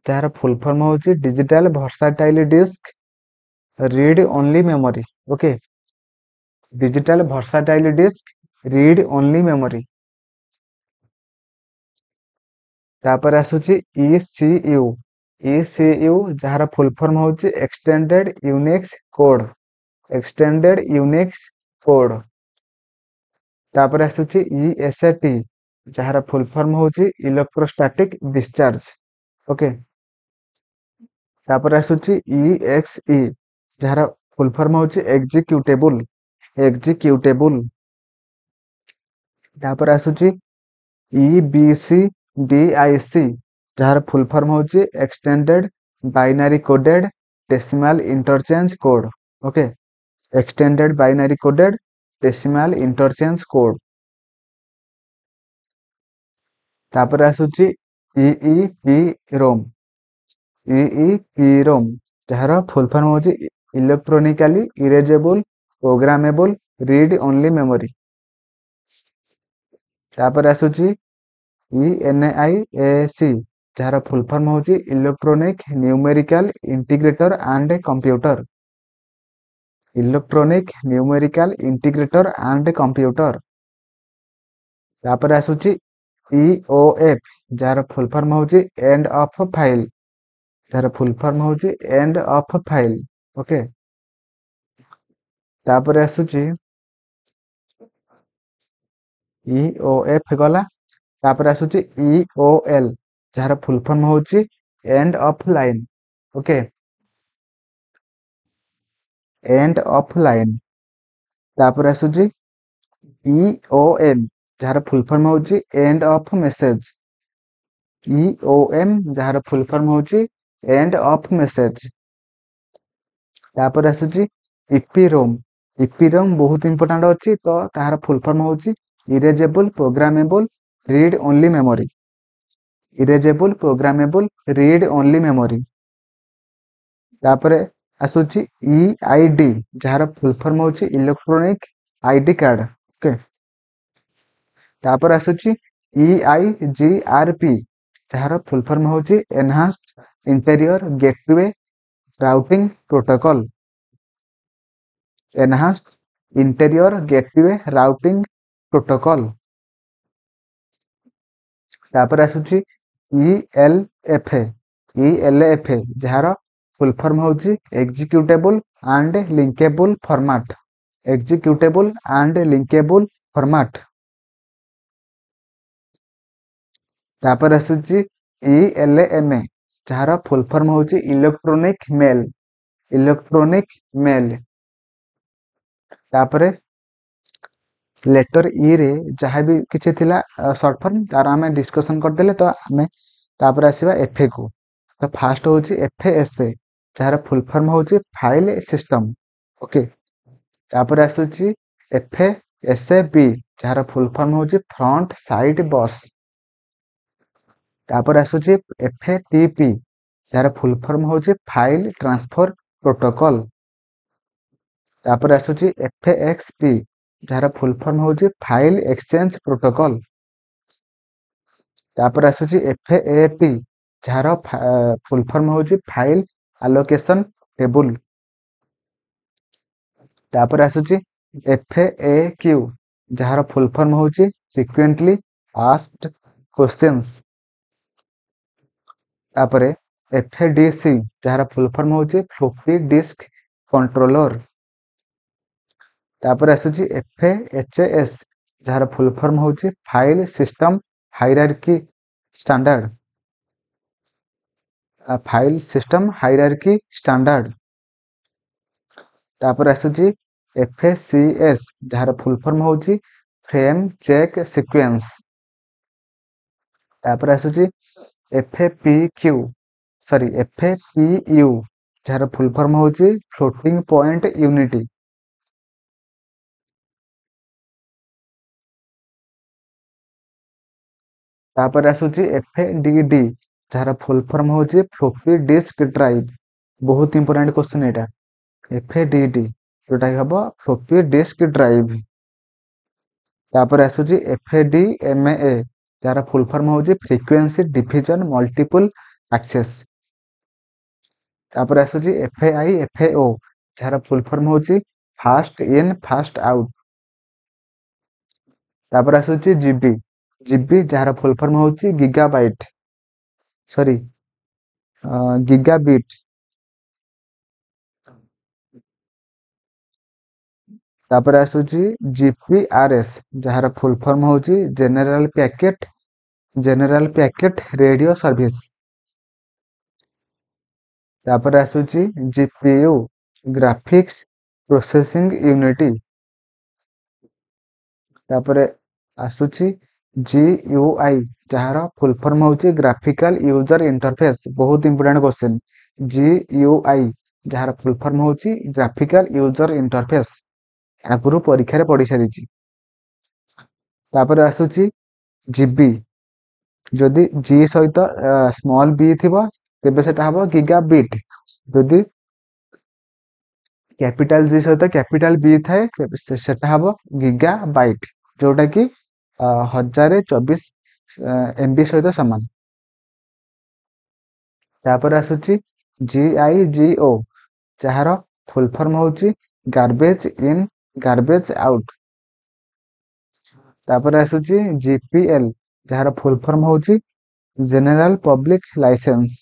ଯାହାର ଫୁଲ ଫର୍ମ ହେଉଛି digital versatile disc read only memory. Okay, digital versatile disc read only memory. ତାପରେ ଆସୁଛି ଇସିୟୁ। ଇସିୟୁ ଯାହାର ଫୁଲ ଫର୍ମ ହେଉଛି extended Unix code, extended Unix code. ତାପରେ ଆସୁଛି ଇଏସଟି, ଯାହାର ଫୁଲ ଫର୍ମ ହେଉଛି ଇଲେକ୍ଟ୍ରୋଷ୍ଟାଟିକ ଡିସଚାର୍ଜ। ଓକେ, ତାପରେ ଆସୁଛି ଇଏକ୍ସଇ, ଯାହାର ଫୁଲ ଫର୍ମ ହେଉଛି ଏକ୍ଜିକ୍ୟୁଟେବୁଲ, ଏକ୍ଜିକ୍ୟୁଟେବୁଲ। ତାପରେ ଆସୁଛି ଇବିସି ଡିଆଇସି, ଯାହାର ଫୁଲ ଫର୍ମ ହେଉଛି extended binary coded decimal interchange code. Okay, extended binary coded decimal interchange code. ତାପରେ ଆସୁଛି ଇଇପି ରୋମ୍, ଇଇପି ରୋମ୍ ଯାହାର ଫୁଲ ଫର୍ମ ହେଉଛି electronically erasable programmable read only memory. ତାପରେ ଆସୁଛି ଇଏନ୍ଆଇଏସି, ଯାହାର ଫୁଲ ଫର୍ମ ହେଉଛି electronic numerical integrator and computer, electronic numerical integrator and computer. ତାପରେ ଆସୁଛି ଇଓଏଫ୍, ଯାହାର ଫୁଲ ଫର୍ମ ହେଉଛି ଏଣ୍ଡ ଅଫ୍ ଫାଇଲ୍, ଯାହାର ଫୁଲ ଫର୍ମ ହେଉଛି ଏଣ୍ଡ ଅଫ୍ ଫାଇଲ୍। ଓକେ, ତାପରେ ଆସୁଛି ଇଓଏଫ୍ ଗଲା। ତାପରେ ଆସୁଛି ଇଓଏଲ୍, ଯାହାର ଫୁଲ ଫର୍ମ ହେଉଛି end of line. Okay, end of line. ତାପରେ ଆସୁଛି ଇଓଏମ୍, ଯାହାର ଫୁଲ ଫର୍ମ ହେଉଛି ଏଣ୍ଡ ଅଫ୍ ମେସେଜ। ଇଓଏମ୍ ଯାହାର ଫୁଲ ଫର୍ମ ହେଉଛି ଏଣ୍ଡ ଅଫ୍ ମେସେଜ। ତାପରେ ଆସୁଛି ଇପିରୋମ୍। ଇପିରୋମ୍ ବହୁତ ଇମ୍ପୋର୍ଟାଣ୍ଟ ଅଛି, ତ ତାହାର ଫୁଲ ଫର୍ମ ହେଉଛି erasable programmable read only memory, erasable programmable read only memory. ତାପରେ ଆସୁଛି ଇଆଇଡି, ଯାହାର ଫୁଲ ଫର୍ମ ହେଉଛି ଇଲେକ୍ଟ୍ରୋନିକ ଆଇଡି କାର୍ଡ। ଓକେ, ତାପରେ ଆସୁଛି ଇଆଇଜିଆରପି, ଯାହାର ଫୁଲ ଫର୍ମ ହେଉଛି enhanced interior gateway routing protocol, enhanced interior gateway routing protocol. ତାପରେ ଆସୁଛି ଇଏଲଏଫଏ, ଇଏଲଏଫଏ ଯାହାର ଫୁଲ ଫର୍ମ ହେଉଛି executable and linkable format, executable and linkable format. ତାପରେ ଆସୁଛି ଇଏଲଏମଏ, ଯାହାର ଫୁଲ ଫର୍ମ ହେଉଛି ଇଲେକ୍ଟ୍ରୋନିକ ମେଲ୍, ଇଲେକ୍ଟ୍ରୋନିକ ମେଲ୍। ତାପରେ ଲେଟର ଇ ରେ ଯାହା ବି କିଛି ଥିଲା ସର୍ଟ ଫର୍ମ ତାର ଆମେ ଡିସ୍କସନ୍ କରିଦେଲେ। ତ ଆମେ ତାପରେ ଆସିବା ଏଫ୍ କୁ। ତ ଫାଷ୍ଟ ହେଉଛି ଏଫ୍ ଏସ୍ ଏ, ଯାହାର ଫୁଲ ଫର୍ମ ହେଉଛି ଫାଇଲ୍ ସିଷ୍ଟମ। ଓକେ, ତାପରେ ଆସୁଛି ଏଫ୍ ଏସ୍ ଏ ବି, ଯାହାର ଫୁଲ ଫର୍ମ ହେଉଛି ଫ୍ରଣ୍ଟ ସାଇଡ୍ ବସ୍। ତାପରେ ଆସୁଛି ଏଫ୍ ଟି ପି, ଯାହାର ଫୁଲ ଫର୍ମ ହେଉଛି ଫାଇଲ୍ ଟ୍ରାନ୍ସଫର ପ୍ରୋଟୋକଲ୍। ତାପରେ ଆସୁଛି ଏଫ୍ ଏକ୍ସ ପି, ଯାହାର ଫୁଲ ଫର୍ମ ହେଉଛି ଫାଇଲ୍ ଏକ୍ସଚେଞ୍ଜ ପ୍ରୋଟୋକଲ୍। ତାପରେ ଆସୁଛି ଏଫ୍ ଏ ଟି, ଯାହାର ଫୁଲ ଫର୍ମ ହେଉଛି ଫାଇଲ୍ ଆଲୋକେସନ୍ ଟେବୁଲ। ତାପରେ ଆସୁଛି ଏଫ୍ ଏ କ୍ୟୁ, ଯାହାର ଫୁଲ ଫର୍ମ ହେଉଛି ଫ୍ରିକ୍ୱେଣ୍ଟଲି ଆସ୍କଡ କ୍ୱେଶ୍ଚନ୍ସ। ତାପରେ ଏଫ୍ ଡି ସି, ଯାହାର ଫୁଲ ଫର୍ମ ହେଉଛି ଫ୍ଲୋପି ଡିସ୍କ କଣ୍ଟ୍ରୋଲର। ତାପରେ ଆସୁଛି ଏଫ୍ ଏଚ୍ ଏସ୍, ଯାହାର ଫୁଲ ଫର୍ମ ହେଉଛି file system hierarchy standard, file system hierarchy standard. ତାପରେ ଆସୁଛି ଏଫ୍ ସି ଏସ୍, ଯାହାର ଫୁଲ ଫର୍ମ ହେଉଛି ଫ୍ରେମ୍ ଚେକ୍ ସିକ୍ୱେନ୍ସ। ତାପରେ ଆସୁଛି ଏଫ୍ ପି କ୍ୟୁ, ସରି ଏଫ୍ ପି ୟୁ ଯାହାର ଫୁଲ୍ ଫର୍ମ ହେଉଛି ଫ୍ଲୋଟିଂ ପଏଣ୍ଟ ୟୁନିଟ୍। ତାପରେ ଆସୁଛି ଏଫ୍ ଡି ଡି ଯାହାର ଫୁଲ୍ ଫର୍ମ ହେଉଛି ଫ୍ଲୋପି ଡିସ୍କ ଡ୍ରାଇଭ୍। ବହୁତ ଇମ୍ପୋର୍ଟାଣ୍ଟ କ୍ୱେଶ୍ଚନ୍ ଏଇଟା, ଏଫ୍ ଡି ଡି ଯୋଉଟା କି ହବ ଫ୍ଲୋପି ଡିସ୍କ ଡ୍ରାଇଭ୍। ତାପରେ ଆସୁଛି ଏଫ୍ ଡି ଏମ୍ ଏ ଯାହାର ଫୁଲ୍ ଫର୍ମ ହେଉଛି ଫ୍ରିକ୍ୱେନ୍ସି ଡିଭିଜନ ମଲ୍ଟିପୁଲ ଆକ୍ସେସ୍। ତାପରେ ଆସୁଛି ଏଫ୍ I F ଓ ଯାହାର ଫୁଲ୍ ଫର୍ମ ହେଉଛି ଫାଷ୍ଟ ଇନ୍ ଫାଷ୍ଟ ଆଉଟ୍। ତାପରେ ଆସୁଛି ଜିବି, ଜିବି ଯାହାର ଫୁଲ୍ ଫର୍ମ ହେଉଛି ଗିଗାବାଇଟ୍ ସରି ଗିଗାବିଟ୍। ତାପରେ ଆସୁଛି ଜିପିଆରଏସ୍ ଯାହାର ଫୁଲ୍ ଫର୍ମ ହେଉଛି general packet general packet radio service. ତାପରେ ଆସୁଛି ଜିପିୟୁ ଗ୍ରାଫିକ୍ସ ପ୍ରୋସେସିଂ ୟୁନିଟ୍। ତାପରେ ଆସୁଛି ଜିୟୁଆଇ ଯାହାର ଫୁଲ୍ ଫର୍ମ ହେଉଛି ଗ୍ରାଫିକାଲ ୟୁଜର ଇଣ୍ଟରଫେସ୍। ବହୁତ ଇମ୍ପୋର୍ଟାଣ୍ଟ କ୍ୱେଶ୍ଚନ୍, ଜିୟୁଆଇ ଯାହାର ଫୁଲ୍ ଫର୍ମ ହେଉଛି ଗ୍ରାଫିକାଲ ୟୁଜର ଇଣ୍ଟରଫେସ୍, ଆଗରୁ ପରୀକ୍ଷାରେ ପଡ଼ି ସାରିଛି। ତାପରେ ଆସୁଛି ଜିବି, ଯଦି ଜି ସହିତ ସ୍ମଲ୍ ବି ଥିବ ତେବେ ସେଟା ହବ ଗିଗା ବିଟ୍, ଯଦି କ୍ୟାପିଟାଲ ଜି ସହିତ କ୍ୟାପିଟାଲ ବି ଥାଏ ସେଟା ହବ ଗିଗା ବାଇଟ୍, ଯୋଉଟା କି ହଜାରେ ଚବିଶ ଏମବି ସହିତ ସମାନ। ତାପରେ ଆସୁଛି ଜି I G ଓ ଯାହାର ଫୁଲ୍ ଫର୍ମ ହେଉଛି ଗାର୍ବେଜ ଇନ୍ ଗାର୍ବେଜ ଆଉଟ୍। ତାପରେ ଆସୁଛି ଜିପିଏଲ୍ ଯାହାର ଫୁଲ୍ ଫର୍ମ ହେଉଛି ଜେନେରାଲ ପବ୍ଲିକ ଲାଇସେନ୍ସ।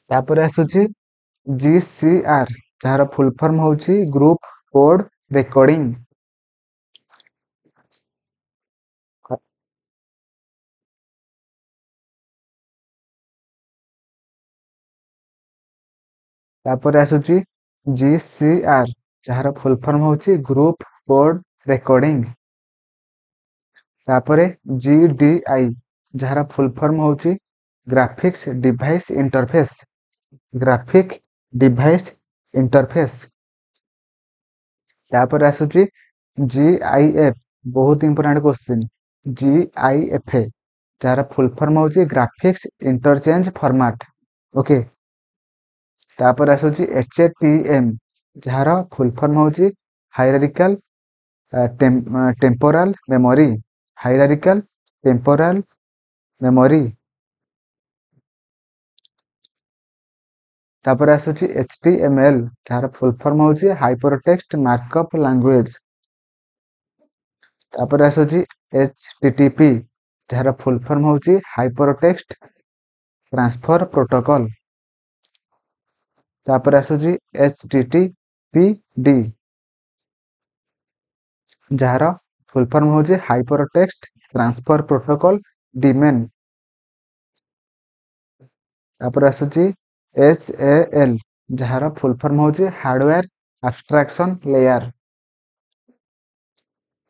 ତାପରେ ଆସୁଛି ଜି ସି ଆର୍ ଯାହାର ଫୁଲ୍ ଫର୍ମ ହେଉଛି ଗ୍ରୁପ କୋଡ୍ ରେକର୍ଡିଂ। ତାପରେ ଆସୁଛି ଜି ସି ଆର୍ ଯାହାର ଫୁଲ୍ ଫର୍ମ ହେଉଛି ଗ୍ରୁପ କୋଡ୍ ରେକର୍ଡିଂ। ତାପରେ ଜି ଡି I ଯାହାର ଫୁଲ୍ ଫର୍ମ ହେଉଛି graphics device interface, graphic device interface. ତାପରେ ଆସୁଛି ଜି I F, ବହୁତ important question, G I F ଯାହାର ଫୁଲ୍ ଫର୍ମ ହେଉଛି ଗ୍ରାଫିକ୍ସ ଇଣ୍ଟରଚେଞ୍ଜ ଫର୍ମାଟ। ଓକେ, ତାପରେ ଆସୁଛି ଏଚ୍ ଟି ଏମ୍ ଯାହାର ଫୁଲ୍ ଫର୍ମ ହେଉଛି hierarchical temporal memory, hierarchical temporal memory. ତାପରେ ଆସୁଛି ଏଚ୍ ଟି ଏମ୍ ଏଲ୍ ଯାହାର ଫୁଲ୍ ଫର୍ମ ହେଉଛି ହାଇପରଟେକ୍ସଟ ମାର୍କଅପ୍ ଲାଙ୍ଗୁଏଜ। ତାପରେ ଆସୁଛି ଏଚ୍ ଟି ଟି ପି ଯାହାର ଫୁଲ୍ ଫର୍ମ ହେଉଛି ହାଇପରଟେକ୍ସଟ ଟ୍ରାନ୍ସଫର ପ୍ରୋଟୋକଲ୍। ତାପରେ ଆସୁଛି H T T P D ଯାହାର ଫୁଲ୍ ଫର୍ମ ହେଉଛି ହାଇପରଟେକ୍ସଟ ଟ୍ରାନ୍ସଫର ପ୍ରୋଟୋକଲ୍ ଡିମେନ୍। ତାପରେ ଆସୁଛି ଏଚ୍ ଏ ଏଲ୍ ଯାହାର ଫୁଲ୍ ଫର୍ମ ହେଉଛି ହାର୍ଡୱେୟାର ଆବଷ୍ଟ୍ରାକ୍ସନ୍ ଲେୟାର।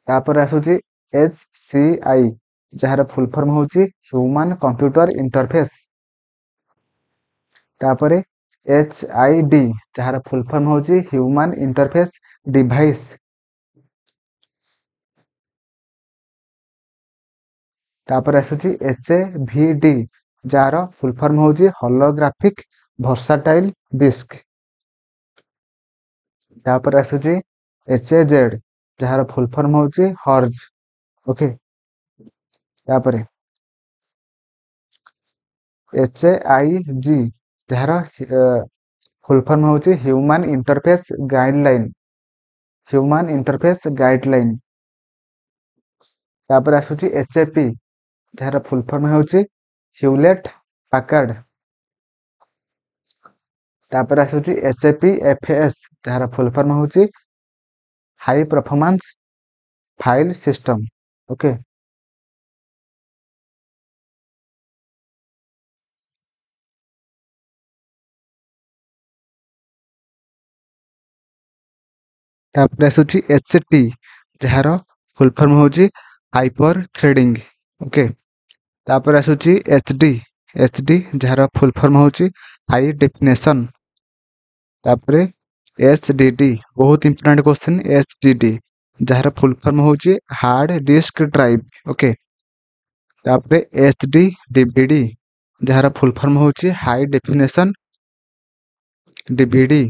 ତାପରେ ଆସୁଛି ଏଚ୍ ସି I ଯାହାର ଫୁଲ୍ ଫର୍ମ ହେଉଛି ହ୍ୟୁମାନ କମ୍ପ୍ୟୁଟର ଇଣ୍ଟରଫେସ୍। ତାପରେ ଏଚ୍ I D ଯାହାର ଫୁଲ୍ ଫର୍ମ ହେଉଛି ହ୍ୟୁମାନ ଇଣ୍ଟରଫେସ୍ ଡିଭାଇସ୍। ତାପରେ ଆସୁଛି ଏଚ୍ ଏ ଭି ଡି ଯାହାର ଫୁଲ୍ ଫର୍ମ ହେଉଛି ହଲୋଗ୍ରାଫିକ୍ ଭର୍ସାଟାଇଲ୍ ଡିସ୍କ। ତାପରେ ଆସୁଛି ଏଚ୍ ଏ ଜେଡ୍ ଯାହାର ଫୁଲ୍ ଫର୍ମ ହେଉଛି ହର୍ଜ। ଓକେ, ତାପରେ ଏଚ୍ I G ଯାହାର ଫୁଲ୍ ଫର୍ମ ହେଉଛି human interface guideline, human interface guideline. ତାପରେ ଆସୁଛି ଏଚ୍ ଏ ପି ଯାହାର ଫୁଲ୍ ଫର୍ମ ହେଉଛି ହ୍ୟୁଲେଟ୍ ପାକାର୍ଡ। ତାପରେ ଆସୁଛି H A P F S ଯାହାର ଫୁଲ୍ ଫର୍ମ ହେଉଛି high performance file system. Okay, ତାପରେ ଆସୁଛି ଏଚ୍ ଟି ଯାହାର ଫୁଲ୍ ଫର୍ମ ହେଉଛି ହାଇପର ଥ୍ରେଡିଂ। ଓକେ, ତାପରେ ଆସୁଛି ଏଚ୍ ଡି ଏଚ୍ ଡି ଯାହାର ଫୁଲ୍ ଫର୍ମ ହେଉଛି ହାଇ ଡେଫିନେସନ୍। ତାପରେ ଏଚ୍ ଡି ଡି, ବହୁତ important question, H D D ଯାହାର ଫୁଲ୍ ଫର୍ମ ହେଉଛି ହାର୍ଡ଼ ଡିସ୍କ ଡ୍ରାଇଭ୍। ଓକେ, ତାପରେ ଏଚ୍ ଡି ଡିଭିଡି ଯାହାର ଫୁଲ୍ ଫର୍ମ ହେଉଛି ହାଇ ଡେଫିନେସନ୍ ଡିଭିଡି।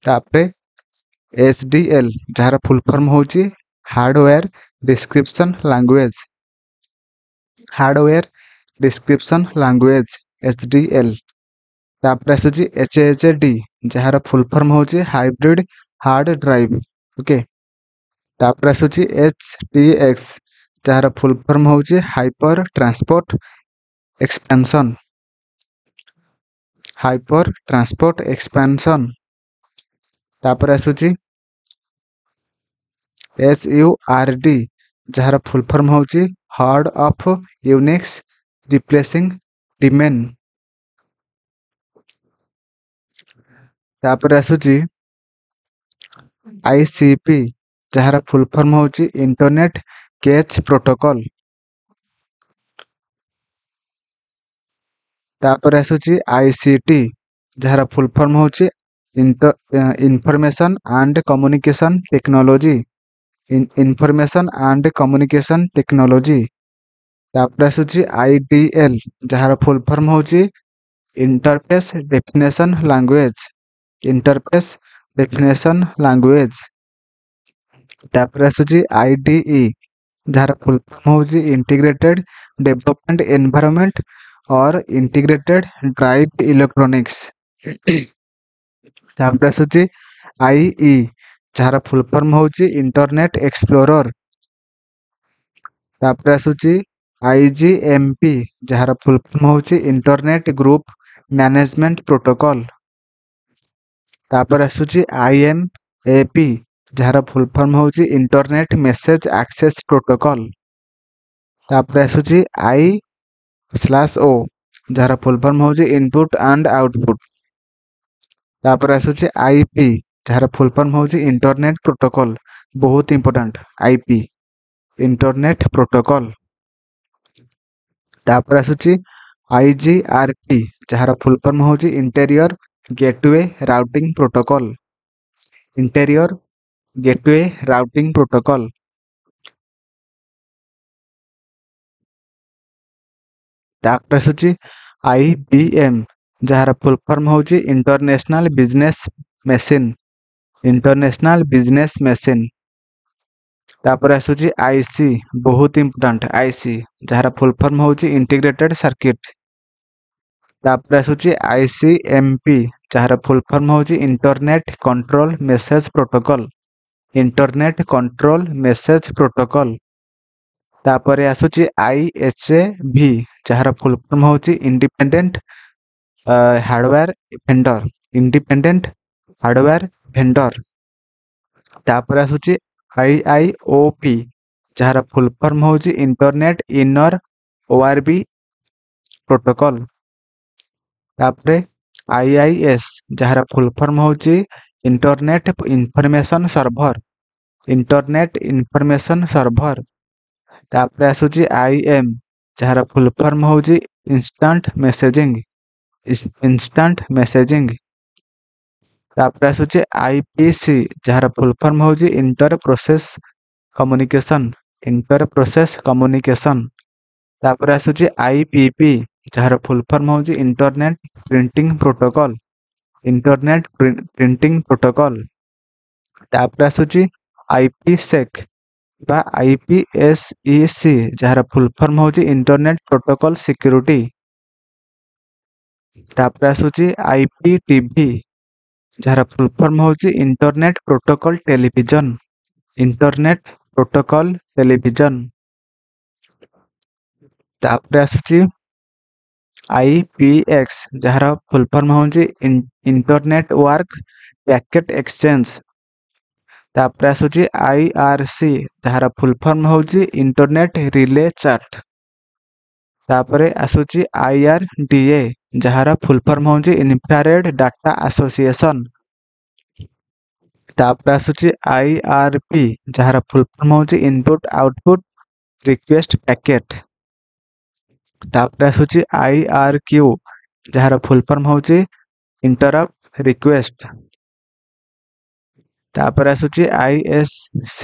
ତାପରେ ଏଚ୍ ଡି ଏଲ୍ ଯାହାର ଫୁଲ୍ ଫର୍ମ ହେଉଛି hardware description language, hardware description language H D L. ତାପରେ ଆସୁଛି ଏଚ୍ ଏଚ୍ ଡି ଯାହାର ଫୁଲ୍ ଫର୍ମ ହେଉଛି ହାଇବ୍ରିଡ୍ ହାର୍ଡ଼ ଡ୍ରାଇଭ୍। ଓକେ, ତାପରେ ଆସୁଛି ଏଚ୍ ଟି ଏକ୍ସ ଯାହାର ଫୁଲ୍ ଫର୍ମ ହେଉଛି hyper transport expansion, hyper transport expansion. ତାପରେ ଆସୁଛି ଏଚ୍ you R D ଯାହାର ଫୁଲ୍ ଫର୍ମ ହେଉଛି horde of Unix replacing daemon. ତାପରେ ଆସୁଛି I C P ଯାହାର ଫୁଲ୍ ଫର୍ମ ହେଉଛି ଇଣ୍ଟରନେଟ୍ କେଚ୍ ପ୍ରୋଟୋକଲ୍। ତାପରେ ଆସୁଛି I C T ଯାହାର ଫୁଲ୍ ଫର୍ମ ହେଉଛି information and communication technology, information and communication technology. ତାପରେ ଆସୁଛି I D L ଯାହାର ଫୁଲ୍ ଫର୍ମ ହେଉଛି interface definition language, interface definition language. ତାପରେ ଆସୁଛି I D E ଯାହାର ଫୁଲ୍ ଫର୍ମ ହେଉଛି integrated development environment or integrated drive electronics. ତାପରେ ଆସୁଛି I E ଯାହାର ଫୁଲ୍ ଫର୍ମ ହେଉଛି ଇଣ୍ଟରନେଟ୍ ଏକ୍ସପ୍ଲୋରର। ତାପରେ ଆସୁଛି I G M P ଯାହାର ଫୁଲ୍ ଫର୍ମ ହେଉଛି ଇଣ୍ଟରନେଟ୍ ଗ୍ରୁପ୍ ମ୍ୟାନେଜମେଣ୍ଟ ପ୍ରୋଟୋକଲ୍। ତାପରେ ଆସୁଛି I M A P ଯାହାର ଫୁଲ୍ ଫର୍ମ ହେଉଛି ଇଣ୍ଟରନେଟ୍ ମେସେଜ୍ ଆକ୍ସେସ୍ ପ୍ରୋଟୋକଲ୍। ତାପରେ ଆସୁଛି I slash ଓ ଯାହାର ଫୁଲ୍ ଫର୍ମ ହେଉଛି ଇନପୁଟ୍ ଆଣ୍ଡ ଆଉଟପୁଟ୍। ତାପରେ ଆସୁଛି I P ଯାହାର ଫୁଲ୍ ଫର୍ମ ହେଉଛି ଇଣ୍ଟରନେଟ୍ ପ୍ରୋଟୋକଲ୍, ବହୁତ important I P internet protocol. ତାପରେ ଆସୁଛି I G R P ଯାହାର ଫୁଲ୍ ଫର୍ମ ହେଉଛି interior gateway routing protocol, interior gateway routing protocol. ତାପରେ ଆସୁଛି I B M ଯାହାର ଫୁଲ୍ ଫର୍ମ ହେଉଛି international business machine, international business machine. ତାପରେ ଆସୁଛି I C, ବହୁତ ଇମ୍ପୋର୍ଟାଣ୍ଟ I C ଯାହାର ଫୁଲ୍ ଫର୍ମ ହେଉଛି ଇଣ୍ଟିଗ୍ରେଟେଡ୍ ସର୍କିଟ୍। ତାପରେ ଆସୁଛି I C M P ଯାହାର ଫୁଲ୍ ଫର୍ମ ହେଉଛି internet control message protocol, internet control message protocol. ତାପରେ ଆସୁଛି I H A ଭି ଯାହାର ଫୁଲ୍ ଫର୍ମ ହେଉଛି independent hardware vendor, independent hardware vendor. ତାପରେ ଆସୁଛି I I O P ଯାହାର ଫୁଲ୍ ଫର୍ମ ହେଉଛି internet inner O R B protocol. ତାପରେ I I S ଯାହାର ଫୁଲ୍ ଫର୍ମ ହେଉଛି internet information server, internet information server. ତାପରେ ଆସୁଛି I M ଯାହାର ଫୁଲ୍ ଫର୍ମ ହେଉଛି ଇନଷ୍ଟାଣ୍ଟ ମେସେଜିଂ, ଇନଷ୍ଟାଣ୍ଟ ମେସେଜିଂ। ତାପରେ ଆସୁଛି I P C ଯାହାର ଫୁଲ୍ ଫର୍ମ ହେଉଛି inter process communication, inter process communication. ତାପରେ ଆସୁଛି I P P ଯାହାର ଫୁଲ୍ ଫର୍ମ ହେଉଛି internet printing protocol, internet printing protocol. ତାପରେ ଆସୁଛି I P ସେକ୍ ବା I P S E C ଯାହାର ଫୁଲ୍ ଫର୍ମ ହେଉଛି ଇଣ୍ଟରନେଟ୍ ପ୍ରୋଟୋକଲ୍ ସିକ୍ୟୁରିଟି। ତାପରେ ଆସୁଛି I P T ଭି ଯାହାର ଫୁଲ୍ ଫର୍ମ ହେଉଛି internet protocol television, internet protocol television. ତାପରେ ଆସୁଛି I P X ଯାହାର ଫୁଲ୍ ଫର୍ମ ହେଉଛି ଇଣ୍ଟରନେଟ୍ ୱାର୍କ ପ୍ୟାକେଟ୍ ଏକ୍ସଚେଞ୍ଜ। ତାପରେ ଆସୁଛି I R C ଯାହାର ଫୁଲ୍ ଫର୍ମ ହେଉଛି ଇଣ୍ଟରନେଟ୍ ରିଲେ ଚାଟ୍। ତାପରେ ଆସୁଛି I R D A ଯାହାର ଫୁଲ୍ ଫର୍ମ ହେଉଛି ଇନଫ୍ରାରେଡ୍ ଡାଟା ଆସୋସିଏସନ୍। ତାପରେ ଆସୁଛି I R P ଯାହାର ଫୁଲ୍ ଫର୍ମ ହେଉଛି ଇନପୁଟ୍ ଆଉଟପୁଟ୍ ରିକ୍ୱେଷ୍ଟ ପ୍ୟାକେଟ୍। ତାପରେ ଆସୁଛି I R Q, ଯାହାର ଫୁଲ୍ ଫର୍ମ ହେଉଛି ଇଣ୍ଟରପ୍ଟ ରିକ୍ୱେଷ୍ଟ। ତାପରେ ଆସୁଛି I S C,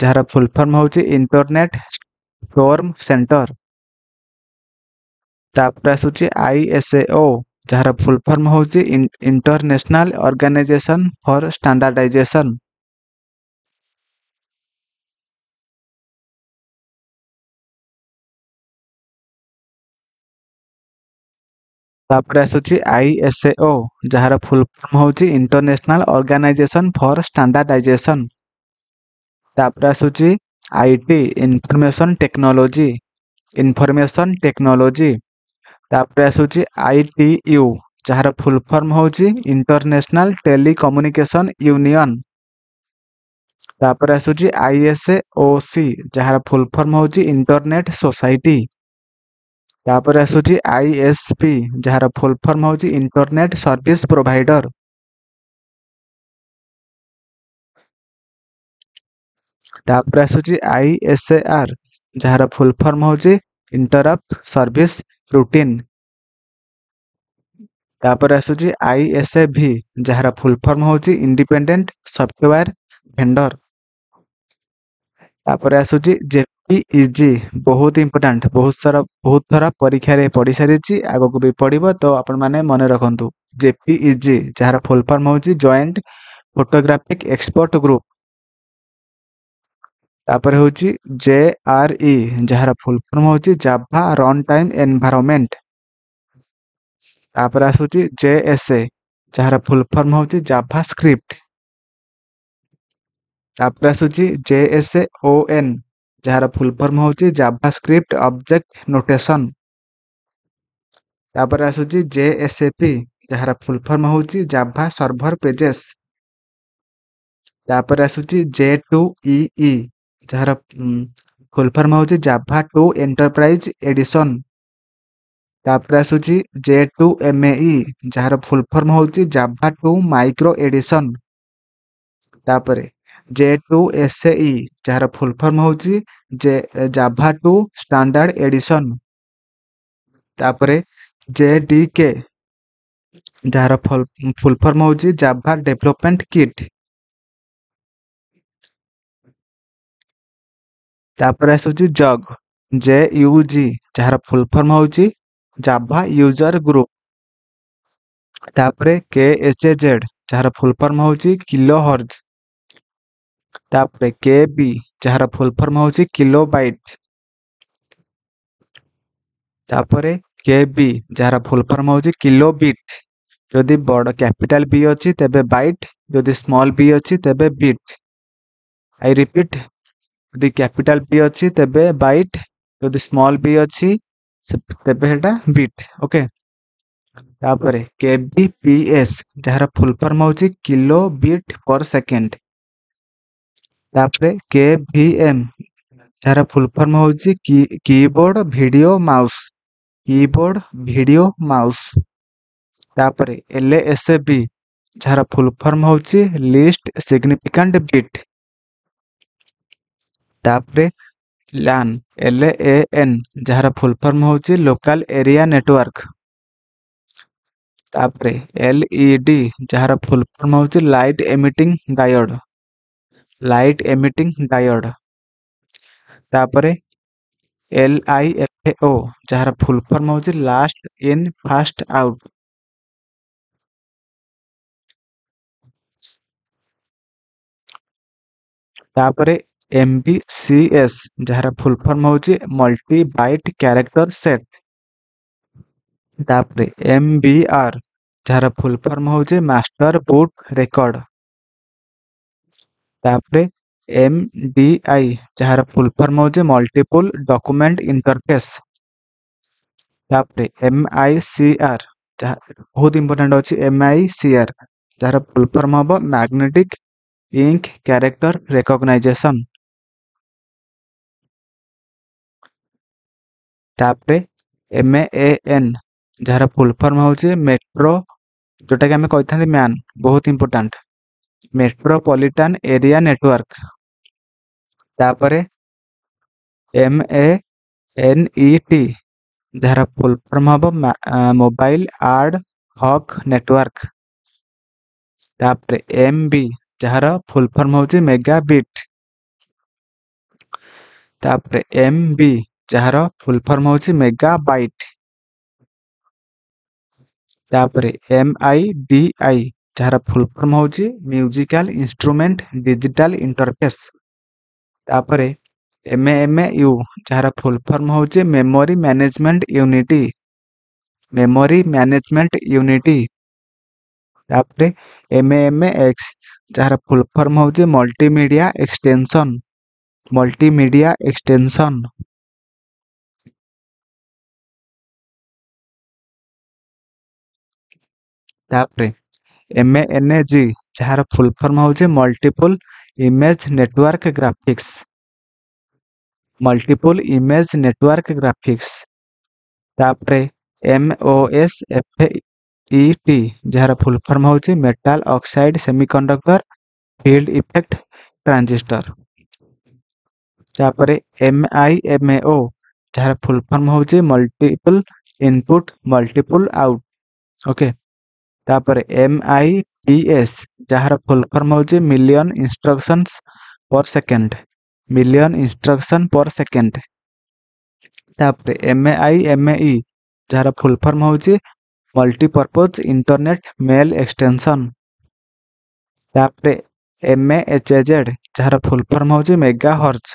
ଯାହାର ଫୁଲ୍ ଫର୍ମ ହେଉଛି ଇଣ୍ଟରନେଟ୍ ଷ୍ଟୋର୍ମ ସେଣ୍ଟର। ତାପରେ ଆସୁଛି I S A ଓ, ଯାହାର ଫୁଲ୍ ଫର୍ମ ହେଉଛି ଇଣ୍ଟରନ୍ୟାସନାଲ ଅର୍ଗାନାଇଜେସନ୍ ଫର୍ ଷ୍ଟାଣ୍ଡାର୍ଡାଇଜେସନ୍। ତାପରେ ଆସୁଛି I S A ଓ, ଯାହାର ଫୁଲ୍ ଫର୍ମ ହେଉଛି ଇଣ୍ଟରନ୍ୟାସନାଲ ଅର୍ଗାନାଇଜେସନ୍ ଫର୍ ଷ୍ଟାଣ୍ଡାର୍ଡାଇଜେସନ୍। ତାପରେ ଆସୁଛି I T, information technology, information technology. ତାପରେ ଆସୁଛି I T U, ଯାହାର ଫୁଲ୍ ଫର୍ମ ହେଉଛି ଇଣ୍ଟରନ୍ୟାସନାଲ ଟେଲିକମ୍ୟୁନିକେସନ୍ ୟୁନିଅନ୍। ତାପରେ ଆସୁଛି I S A O C, ଯାହାର ଫୁଲ୍ ଫର୍ମ ହେଉଛି ଇଣ୍ଟରନେଟ୍ ସୋସାଇଟି। ତାପରେ ଆସୁଛି I S P, ଯାହାର ଫୁଲ୍ ଫର୍ମ ହେଉଛି ଇଣ୍ଟରନେଟ୍ ସର୍ଭିସ୍ ପ୍ରୋଭାଇଡର। ତାପରେ ଆସୁଛି I S A ଆର୍, ଯାହାର ଫୁଲ୍ ଫର୍ମ ହେଉଛି ଇଣ୍ଟରପ୍ଟ ସର୍ଭିସ୍ ରୁଟିନ୍। ତାପରେ ଆସୁଛି I S A ଭି, ଯାହାର ଫୁଲ୍ ଫର୍ମ ହେଉଛି ଇଣ୍ଡିପେଣ୍ଡେଣ୍ଟ ସଫ୍ଟୱେୟାର ଭେଣ୍ଡର। ତାପରେ ଆସୁଛି ଜେପିଇଜି, ବହୁତ ଇମ୍ପୋର୍ଟାଣ୍ଟ, ବହୁତ ସାରା ବହୁତ ଥର ପରୀକ୍ଷାରେ ପଡ଼ି ସାରିଛି, ଆଗକୁ ବି ପଡ଼ିବ, ତ ଆପଣମାନେ ମନେ ରଖନ୍ତୁ। ଜେପିଇଜି, ଯାହାର ଫୁଲ୍ ଫର୍ମ ହେଉଛି ଜଏଣ୍ଟ ଫଟୋଗ୍ରାଫିକ୍ ଏକ୍ସପର୍ଟ ଗ୍ରୁପ୍। ତାପରେ ହେଉଛି ଜେ ଆର୍ ଇ, ଯାହାର ଫୁଲ୍ ଫର୍ମ ହେଉଛି ଜାଭା ରନ୍ ଟାଇମ୍ ଏନଭାରମେଣ୍ଟ। ତାପରେ ଆସୁଛି ଜେ ଏସ୍ ଏ, ଯାହାର ଫୁଲ୍ ଫର୍ମ ହେଉଛି ଜାଭା ସ୍କ୍ରିପ୍ଟ। ତାପରେ ଆସୁଛି J S A O N, ଯାହାର ଫୁଲ୍ ଫର୍ମ ହେଉଛି ଜାଭା ସ୍କ୍ରିପ୍ଟ ଅବଜେକ୍ଟ ନୋଟେସନ୍। ତାପରେ ଆସୁଛି ଜେ ଏସ୍ ଏ ପି, ଯାହାର ଫୁଲ୍ ଫର୍ମ ହେଉଛି ଜାଭା ସର୍ଭର ପେଜେସ୍। ତାପରେ ଆସୁଛି ଜେ ଟୁ ଇ ଇ, ଯାହାର ଫୁଲ୍ ଫର୍ମ ହେଉଛି ଜାଭା ଟୁ ଏଣ୍ଟରପ୍ରାଇଜ୍ ଏଡିସନ୍। ତାପରେ ଆସୁଛି ଜେ ଟୁ ଏମ୍ ଏ ଇ, ଯାହାର ଫୁଲ୍ ଫର୍ମ ହେଉଛି ଜାଭା ଟୁ ମାଇକ୍ରୋ ଏଡିସନ୍। ତାପରେ ଜେ ଟୁ ଏସ୍ ଏ ଇ, ଯାହାର ଫୁଲ୍ ଫର୍ମ ହେଉଛି ଜେ ଜାଭା ଟୁ ଷ୍ଟାଣ୍ଡାର୍ଡ ଏଡିସନ୍। ତାପରେ ଜେ ଡି କେ, ଯାହାର ଫୁଲ୍ ଫର୍ମ ହେଉଛି ଜାଭା ଡେଭଲପମେଣ୍ଟ କିଟ୍। ତାପରେ ଆସୁଛି ଜଗ୍, ଜେ ୟୁ ଜି, ଯାହାର ଫୁଲ୍ ଫର୍ମ ହେଉଛି ଜାଭା ୟୁଜର ଗ୍ରୁପ୍। ତାପରେ କେ ଏଚ୍ ଏ ଜେଡ୍, ଯାହାର ଫୁଲ୍ ଫର୍ମ ହେଉଛି କିଲୋ ହର୍ଜ। ତାପରେ କେ ବି, ଯାହାର ଫୁଲ୍ ଫର୍ମ ହେଉଛି କିଲୋ ବାଇଟ୍। ତାପରେ କେ ବି, ଯାହାର ଫୁଲ୍ ଫର୍ମ ହେଉଛି କିଲୋ ବିଟ୍। ଯଦି ବଡ଼ କ୍ୟାପିଟାଲ ବି ଅଛି ତେବେ ବାଇଟ୍, ଯଦି ସ୍ମଲ୍ ବି ଅଛି ତେବେ ବିଟ୍। I repeat, ଯଦି କ୍ୟାପିଟାଲ ବି ଅଛି ତେବେ ବାଇଟ୍, ଯଦି ସ୍ମଲ୍ ବି ଅଛି ତେବେ ସେଟା ବିଟ୍। ଓକେ। ତାପରେ କେ ବି ପି ଏସ୍, ଯାହାର ଫୁଲ୍ ଫର୍ମ ହେଉଛି କିଲୋ ବିଟ୍ ପର ସେକେଣ୍ଡ। ତାପରେ କେ ଭି ଏମ୍, ଯାହାର ଫୁଲ୍ ଫର୍ମ ହେଉଛି keyboard video mouse, keyboard video mouse. ତାପରେ ଏଲ୍ ଏସ୍ ଏ ବି, ଯାହାର ଫୁଲ୍ ଫର୍ମ ହେଉଛି ଲିଷ୍ଟ ସିଗ୍ନିଫିକାଣ୍ଟ ବିଟ୍। ତାପରେ ଲାନ୍, ଏଲ୍ ଏ ଏନ୍, ଯାହାର ଫୁଲ୍ ଫର୍ମ ହେଉଛି ଲୋକାଲ ଏରିଆ ନେଟୱାର୍କ। ତାପରେ ଏଲ୍ ଇ ଡି, ଯାହାର ଫୁଲ୍ ଫର୍ମ ହେଉଛି light emitting diode, light emitting diode. ତାପରେ ଏଲ୍ I F ଓ, ଯାହାର ଫୁଲ୍ ଫର୍ମ ହେଉଛି ଲାଷ୍ଟ ଇନ୍ ଫାଷ୍ଟ ଆଉଟ୍। ତାପରେ ଏମ୍ ବି ସି ଏସ୍, ଯାହାର ଫୁଲ୍ ଫର୍ମ ହେଉଛି ମଲ୍ଟି ବାଇଟ୍ କ୍ୟାରେକ୍ଟର ସେଟ୍। ତାପରେ ଏମ୍ ବି ଆର୍, ଯାହାର ଫୁଲ୍ ଫର୍ମ ହେଉଛି ମାଷ୍ଟର ବୁଟ୍ ରେକର୍ଡ। ତାପରେ ଏମ୍ ଡି I, ଯାହାର ଫୁଲ୍ ଫର୍ମ ହେଉଛି ମଲ୍ଟିପୁଲ୍ ଡକୁମେଣ୍ଟ ଇଣ୍ଟରଫେସ୍। ତାପରେ ଏମ୍ I C R, ଯାହା ବହୁତ ଇମ୍ପୋର୍ଟାଣ୍ଟ ଅଛି ଏମ୍ I C R, ଯାହାର ଫୁଲ୍ ଫର୍ମ ହେବ ମ୍ୟାଗ୍ନେଟିକ୍ ଇଙ୍କ କ୍ୟାରେକ୍ଟର ରେକଗ୍ନାଇଜେସନ୍। ତାପରେ ଏମ୍ ଏ ଏନ୍, ଯାହାର ଫୁଲ୍ ଫର୍ମ ହେଉଛି ମେଟ୍ରୋ, ଯେଉଁଟାକି ଆମେ କହିଥାନ୍ତି ମ୍ୟାନ୍, ବହୁତ ଇମ୍ପୋର୍ଟାଣ୍ଟ, ମେଟ୍ରୋପଲିଟାନ୍ ଏରିଆ ନେଟୱାର୍କ। ତାପରେ ଏମ୍ ଏ ଏନ୍ ଇ ଟି, ଯାହାର ଫୁଲ୍ ଫର୍ମ ହେବ ମୋବାଇଲ ଆଡ୍ ହକ୍ ନେଟୱାର୍କ। ତାପରେ ଏମ୍ ବି, ଯାହାର ଫୁଲ୍ ଫର୍ମ ହେଉଛି ମେଗା ବିଟ୍। ତାପରେ ଏମ୍ ବି, ଯାହାର ଫୁଲ୍ ଫର୍ମ ହେଉଛି ମେଗା ବାଇଟ୍। ତାପରେ ଏମ୍ I D I, ଯାହାର ଫୁଲ୍ ଫର୍ମ ହେଉଛି ମ୍ୟୁଜିକାଲ ଇନଷ୍ଟ୍ରୁମେଣ୍ଟ ଡିଜିଟାଲ ଇଣ୍ଟରଫେସ୍। ତାପରେ ଏମ୍ ଏମ୍ you, ଯାହାର ଫୁଲ୍ ଫର୍ମ ହେଉଛି memory management unit, memory management unit. ତାପରେ ଏମ୍ ଏମ୍ ଏକ୍ସ, ଯାହାର ଫୁଲ୍ ଫର୍ମ ହେଉଛି ମଲ୍ଟିମିଡ଼ିଆ ଏକ୍ସଟେନସନ୍, ମଲ୍ଟିମିଡ଼ିଆ ଏକ୍ସଟେନସନ୍। ତାପରେ ଏମ୍ ଏନ୍ ଜି, ଯାହାର ଫୁଲ୍ ଫର୍ମ ହେଉଛି multiple image network graphics, multiple image network graphics. ତାପରେ M O S F E T, ଯାହାର ଫୁଲ୍ ଫର୍ମ ହେଉଛି metal oxide semiconductor field effect transistor. ତାପରେ ଏମ୍ I M ଓ, ଯାହାର ଫୁଲ୍ ଫର୍ମ ହେଉଛି multiple input multiple out, okay. ତାପରେ ଏମ୍ I P S, ଯାହାର ଫୁଲ୍ ଫର୍ମ ହେଉଛି million instructions per second, million instruction per second. ତାପରେ ଏମ୍ I M E, ଯାହାର ଫୁଲ୍ ଫର୍ମ ହେଉଛି ମଲ୍ଟିପର୍ପଜ୍ ଇଣ୍ଟରନେଟ୍ ମେଲ୍ ଏକ୍ସଟେନସନ୍। ତାପରେ ଏମ୍ ଏଚ୍ ଜେଡ୍, ଯାହାର ଫୁଲ୍ ଫର୍ମ ହେଉଛି ମେଗା ହର୍ଜ।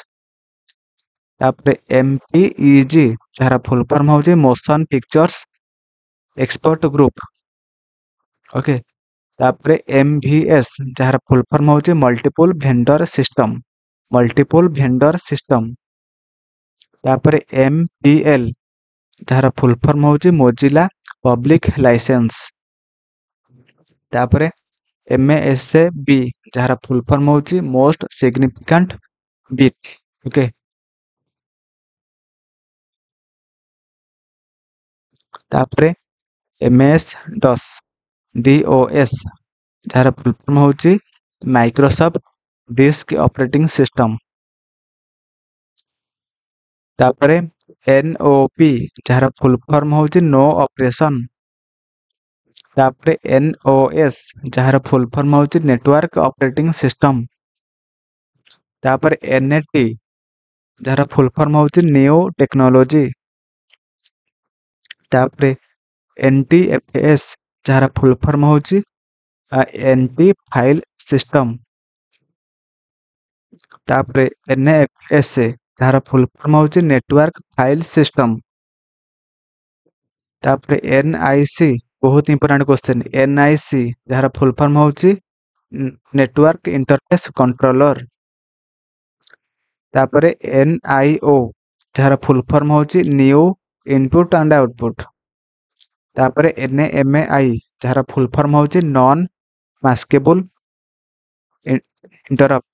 ତାପରେ ଏମ୍ ପି ଇ ଜି, ଯାହାର ଫୁଲ୍ ଫର୍ମ ହେଉଛି motion pictures expert group, okay. ତାପରେ ଏମ୍ ଭି ଏସ୍, ଯାହାର ଫୁଲ୍ ଫର୍ମ ହେଉଛି multiple vendor system, multiple vendor system. ତାପରେ ଏମ୍ ପି ଏଲ୍, ଯାହାର ଫୁଲ୍ ଫର୍ମ ହେଉଛି ମୋଜିଲା ପବ୍ଲିକ୍ ଲାଇସେନ୍ସ। ତାପରେ ଏମ୍ ଏସ୍ ବି, ଯାହାର ଫୁଲ୍ ଫର୍ମ ହେଉଛି ମୋଷ୍ଟ ସିଗ୍ନିଫିକାଣ୍ଟ ବିଟ୍, ଓକେ। ତାପରେ M S DOS, D O S, ଯାହାର ଫୁଲ୍ ଫର୍ମ ହେଉଛି ମାଇକ୍ରୋସଫ୍ଟ ଡିସ୍କ ଅପରେଟିଂ ସିଷ୍ଟମ। ତାପରେ ଏନ୍ ଓ ପି, ଯାହାର ଫୁଲ୍ ଫର୍ମ ହେଉଛି ନୋ ଅପରେସନ୍। ତାପରେ ଏନ୍ ଓ ଏସ୍, ଯାହାର ଫୁଲ୍ ଫର୍ମ ହେଉଛି ନେଟୱାର୍କ ଅପରେଟିଂ ସିଷ୍ଟମ। ତାପରେ ଏନ୍ ଏ ଟି, ଯାହାର ଫୁଲ୍ ଫର୍ମ ହେଉଛି ନ୍ୟୁ ଟେକ୍ନୋଲୋଜି। ତାପରେ ଏନ୍ ଟି ଏଫ୍ ଏସ୍, ଯାହାର ଫୁଲ୍ ଫର୍ମ ହେଉଛି ଏନ୍ ଟି ଫାଇଲ୍ ସିଷ୍ଟମ। ତାପରେ ଏନ୍ ଏଫ୍ ଏସ୍, ଯାହାର ଫୁଲ୍ ଫର୍ମ ହେଉଛି ନେଟୱାର୍କ ଫାଇଲ୍ ସିଷ୍ଟମ। ତାପରେ ଏନ୍ I C, ବହୁତ important question, N I C, ଯାହାର ଫୁଲ୍ ଫର୍ମ ହେଉଛି ନେଟୱାର୍କ ଇଣ୍ଟରଫେସ୍ କଣ୍ଟ୍ରୋଲର। ତାପରେ ଏନ୍ I ଓ, ଯାହାର ଫୁଲ୍ ଫର୍ମ ହେଉଛି ନ୍ୟୁ ଇନପୁଟ୍ ଆଣ୍ଡ ଆଉଟପୁଟ୍। ତାପରେ ଏନ୍ ଏମ୍ I, ଯାହାର ଫୁଲ୍ ଫର୍ମ ହେଉଛି non maskable interrupt,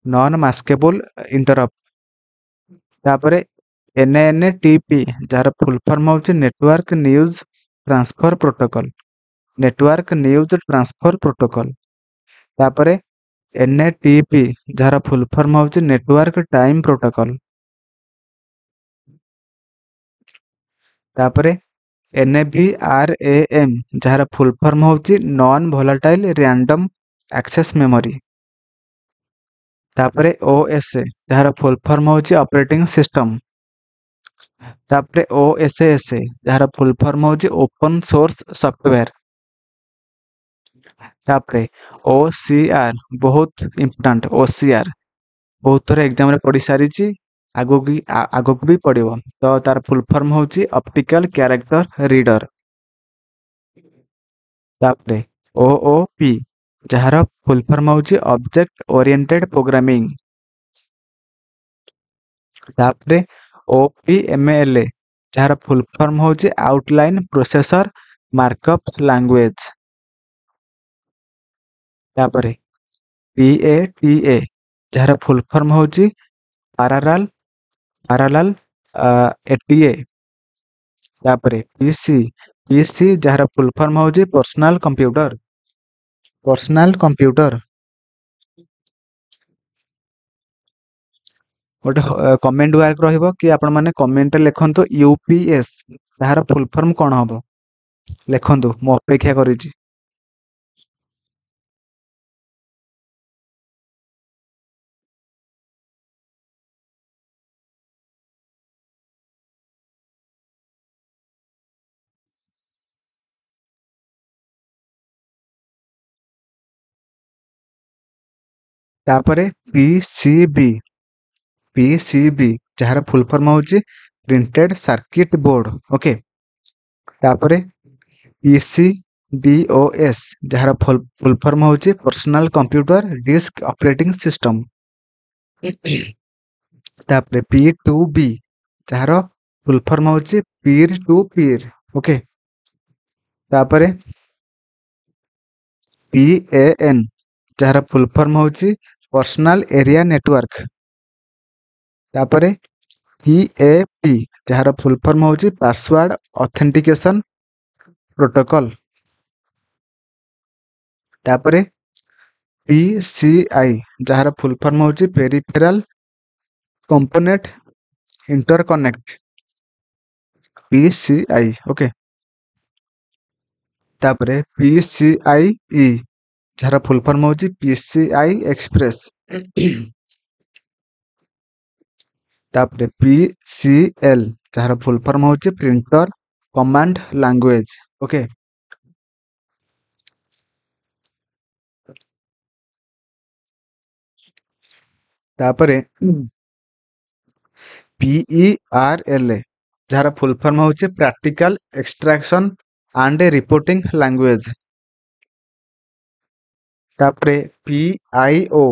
non maskable interrupt. ତାପରେ ଏନ୍ ଏନ୍ ଟି ପି, ଯାହାର ଫୁଲ୍ ଫର୍ମ ହେଉଛି network news transfer protocol, network news transfer protocol. ତାପରେ ଏନ୍ ଏ ଟି ପି, ଯାହାର ଫୁଲ୍ ଫର୍ମ ହେଉଛି ନେଟୱାର୍କ ଟାଇମ୍ ପ୍ରୋଟୋକଲ୍। ତାପରେ N V R A M, ଯାହାର ଫୁଲ୍ ଫର୍ମ ହେଉଛି non volatile random access memory. ତାପରେ ଓ ଏସ୍, ଯାହାର ଫୁଲ୍ ଫର୍ମ ହେଉଛି ଅପରେଟିଂ ସିଷ୍ଟମ। ତାପରେ ଓ ଏସ୍ ଏସ୍, ଯାହାର ଫୁଲ୍ ଫର୍ମ ହେଉଛି ଓପନ୍ ସୋର୍ସ ସଫ୍ଟୱେୟାର। ତାପରେ ଓ ସି ଆର୍, ବହୁତ ଇମ୍ପୋର୍ଟାଣ୍ଟ, ଓ ସି ଆର୍ ବହୁତ ଥର ଏକ୍ଜାମରେ ପଡ଼ି ସାରିଛି, ଆଗକୁ ଆଗକୁ ବି ପଡ଼ିବ। ତ ତାର ଫୁଲ୍ ଫର୍ମ ହେଉଛି ଅପ୍ଟିକାଲ କ୍ୟାରେକ୍ଟର ରିଡର। ତାପରେ ଓ ଓ ପି, ଯାହାର ଫୁଲ୍ ଫର୍ମ ହେଉଛି ଅବଜେକ୍ଟ ଓରିଏଣ୍ଟେଡ୍ ପ୍ରୋଗ୍ରାମିଂ। ତାପରେ ଓ ପି ଏମ୍ ଏଲ୍, ଯାହାର ଫୁଲ୍ ଫର୍ମ ହେଉଛି ଆଉଟଲାଇନ୍ ପ୍ରୋସେସର ମାର୍କଅପ୍ ଲାଙ୍ଗୁଏଜ। ତାପରେ ପି ଏ ଟି ଏ, ଯାହାର ଫୁଲ୍ ଫର୍ମ ହେଉଛି ପାରାଲାଲ ପାରାଲାଲ ଏ ଟି ଏ। ତାପରେ ପି ସି, ପି ସି ଯାହାର ଫୁଲ୍ ଫର୍ମ ହେଉଛି ପର୍ସନାଲ କମ୍ପ୍ୟୁଟର, ପର୍ସନାଲ କମ୍ପ୍ୟୁଟର। ଗୋଟେ କମେଣ୍ଟ ୱାର୍କ ରହିବ କି ଆପଣମାନେ କମେଣ୍ଟରେ ଲେଖନ୍ତୁ ୟୁ ପି ଏସ୍ ତାହାର ଫୁଲ୍ ଫର୍ମ କ'ଣ ହେବ ଲେଖନ୍ତୁ ମୁଁ ଅପେକ୍ଷା କରିଛି ତାପରେ P C B P C B ଯାହାର ଫୁଲ୍ ଫର୍ମ ହେଉଛି ପ୍ରିଣ୍ଟେଡ୍ ସାର୍କିଟ୍ ବୋର୍ଡ ଓକେ ତାପରେ ପି ସି ଡି ଓ ଏସ୍ ଯାହାର ଫୁଲ୍ ଫର୍ମ ହେଉଛି personal computer disk operating system ତାପରେ ପି ଟୁ ବି ଯାହାର ଫୁଲ୍ ଫର୍ମ ହେଉଛି ପିର୍ ଟୁ ପିର୍ ଓକେ ତାପରେ ପି ଏ ଏନ୍ ଯାହାର ଫୁଲ୍ ଫର୍ମ ହେଉଛି ପର୍ସନାଲ ଏରିଆ ନେଟୱାର୍କ ତାପରେ ପି ଏ ପି ଯାହାର ଫୁଲ୍ ଫର୍ମ ହେଉଛି ପାସୱାର୍ଡ ଅଥେଣ୍ଟିକେସନ ପ୍ରୋଟୋକଲ ତାପରେ ପି ସି I ଯାହାର ଫୁଲ୍ ଫର୍ମ ହେଉଛି peripheral component interconnect P C I okay ତାପରେ ପି ସି I ଇ ଯାହାର ଫୁଲ୍ ଫର୍ମ ହେଉଛି ପି ସି I express ତାପରେ ପି ସି ଏଲ୍ ଯାହାର ଫୁଲ୍ ଫର୍ମ ହେଉଛି ପ୍ରିଣ୍ଟର କମାଣ୍ଡ ଲାଙ୍ଗୁଏଜ ଓକେ ତାପରେ ପିଇ ଆର୍ ଏଲ୍ ଯାହାର ଫୁଲ୍ ଫର୍ମ ହେଉଛି practical extraction and reporting language ତାପରେ ପି I ଓ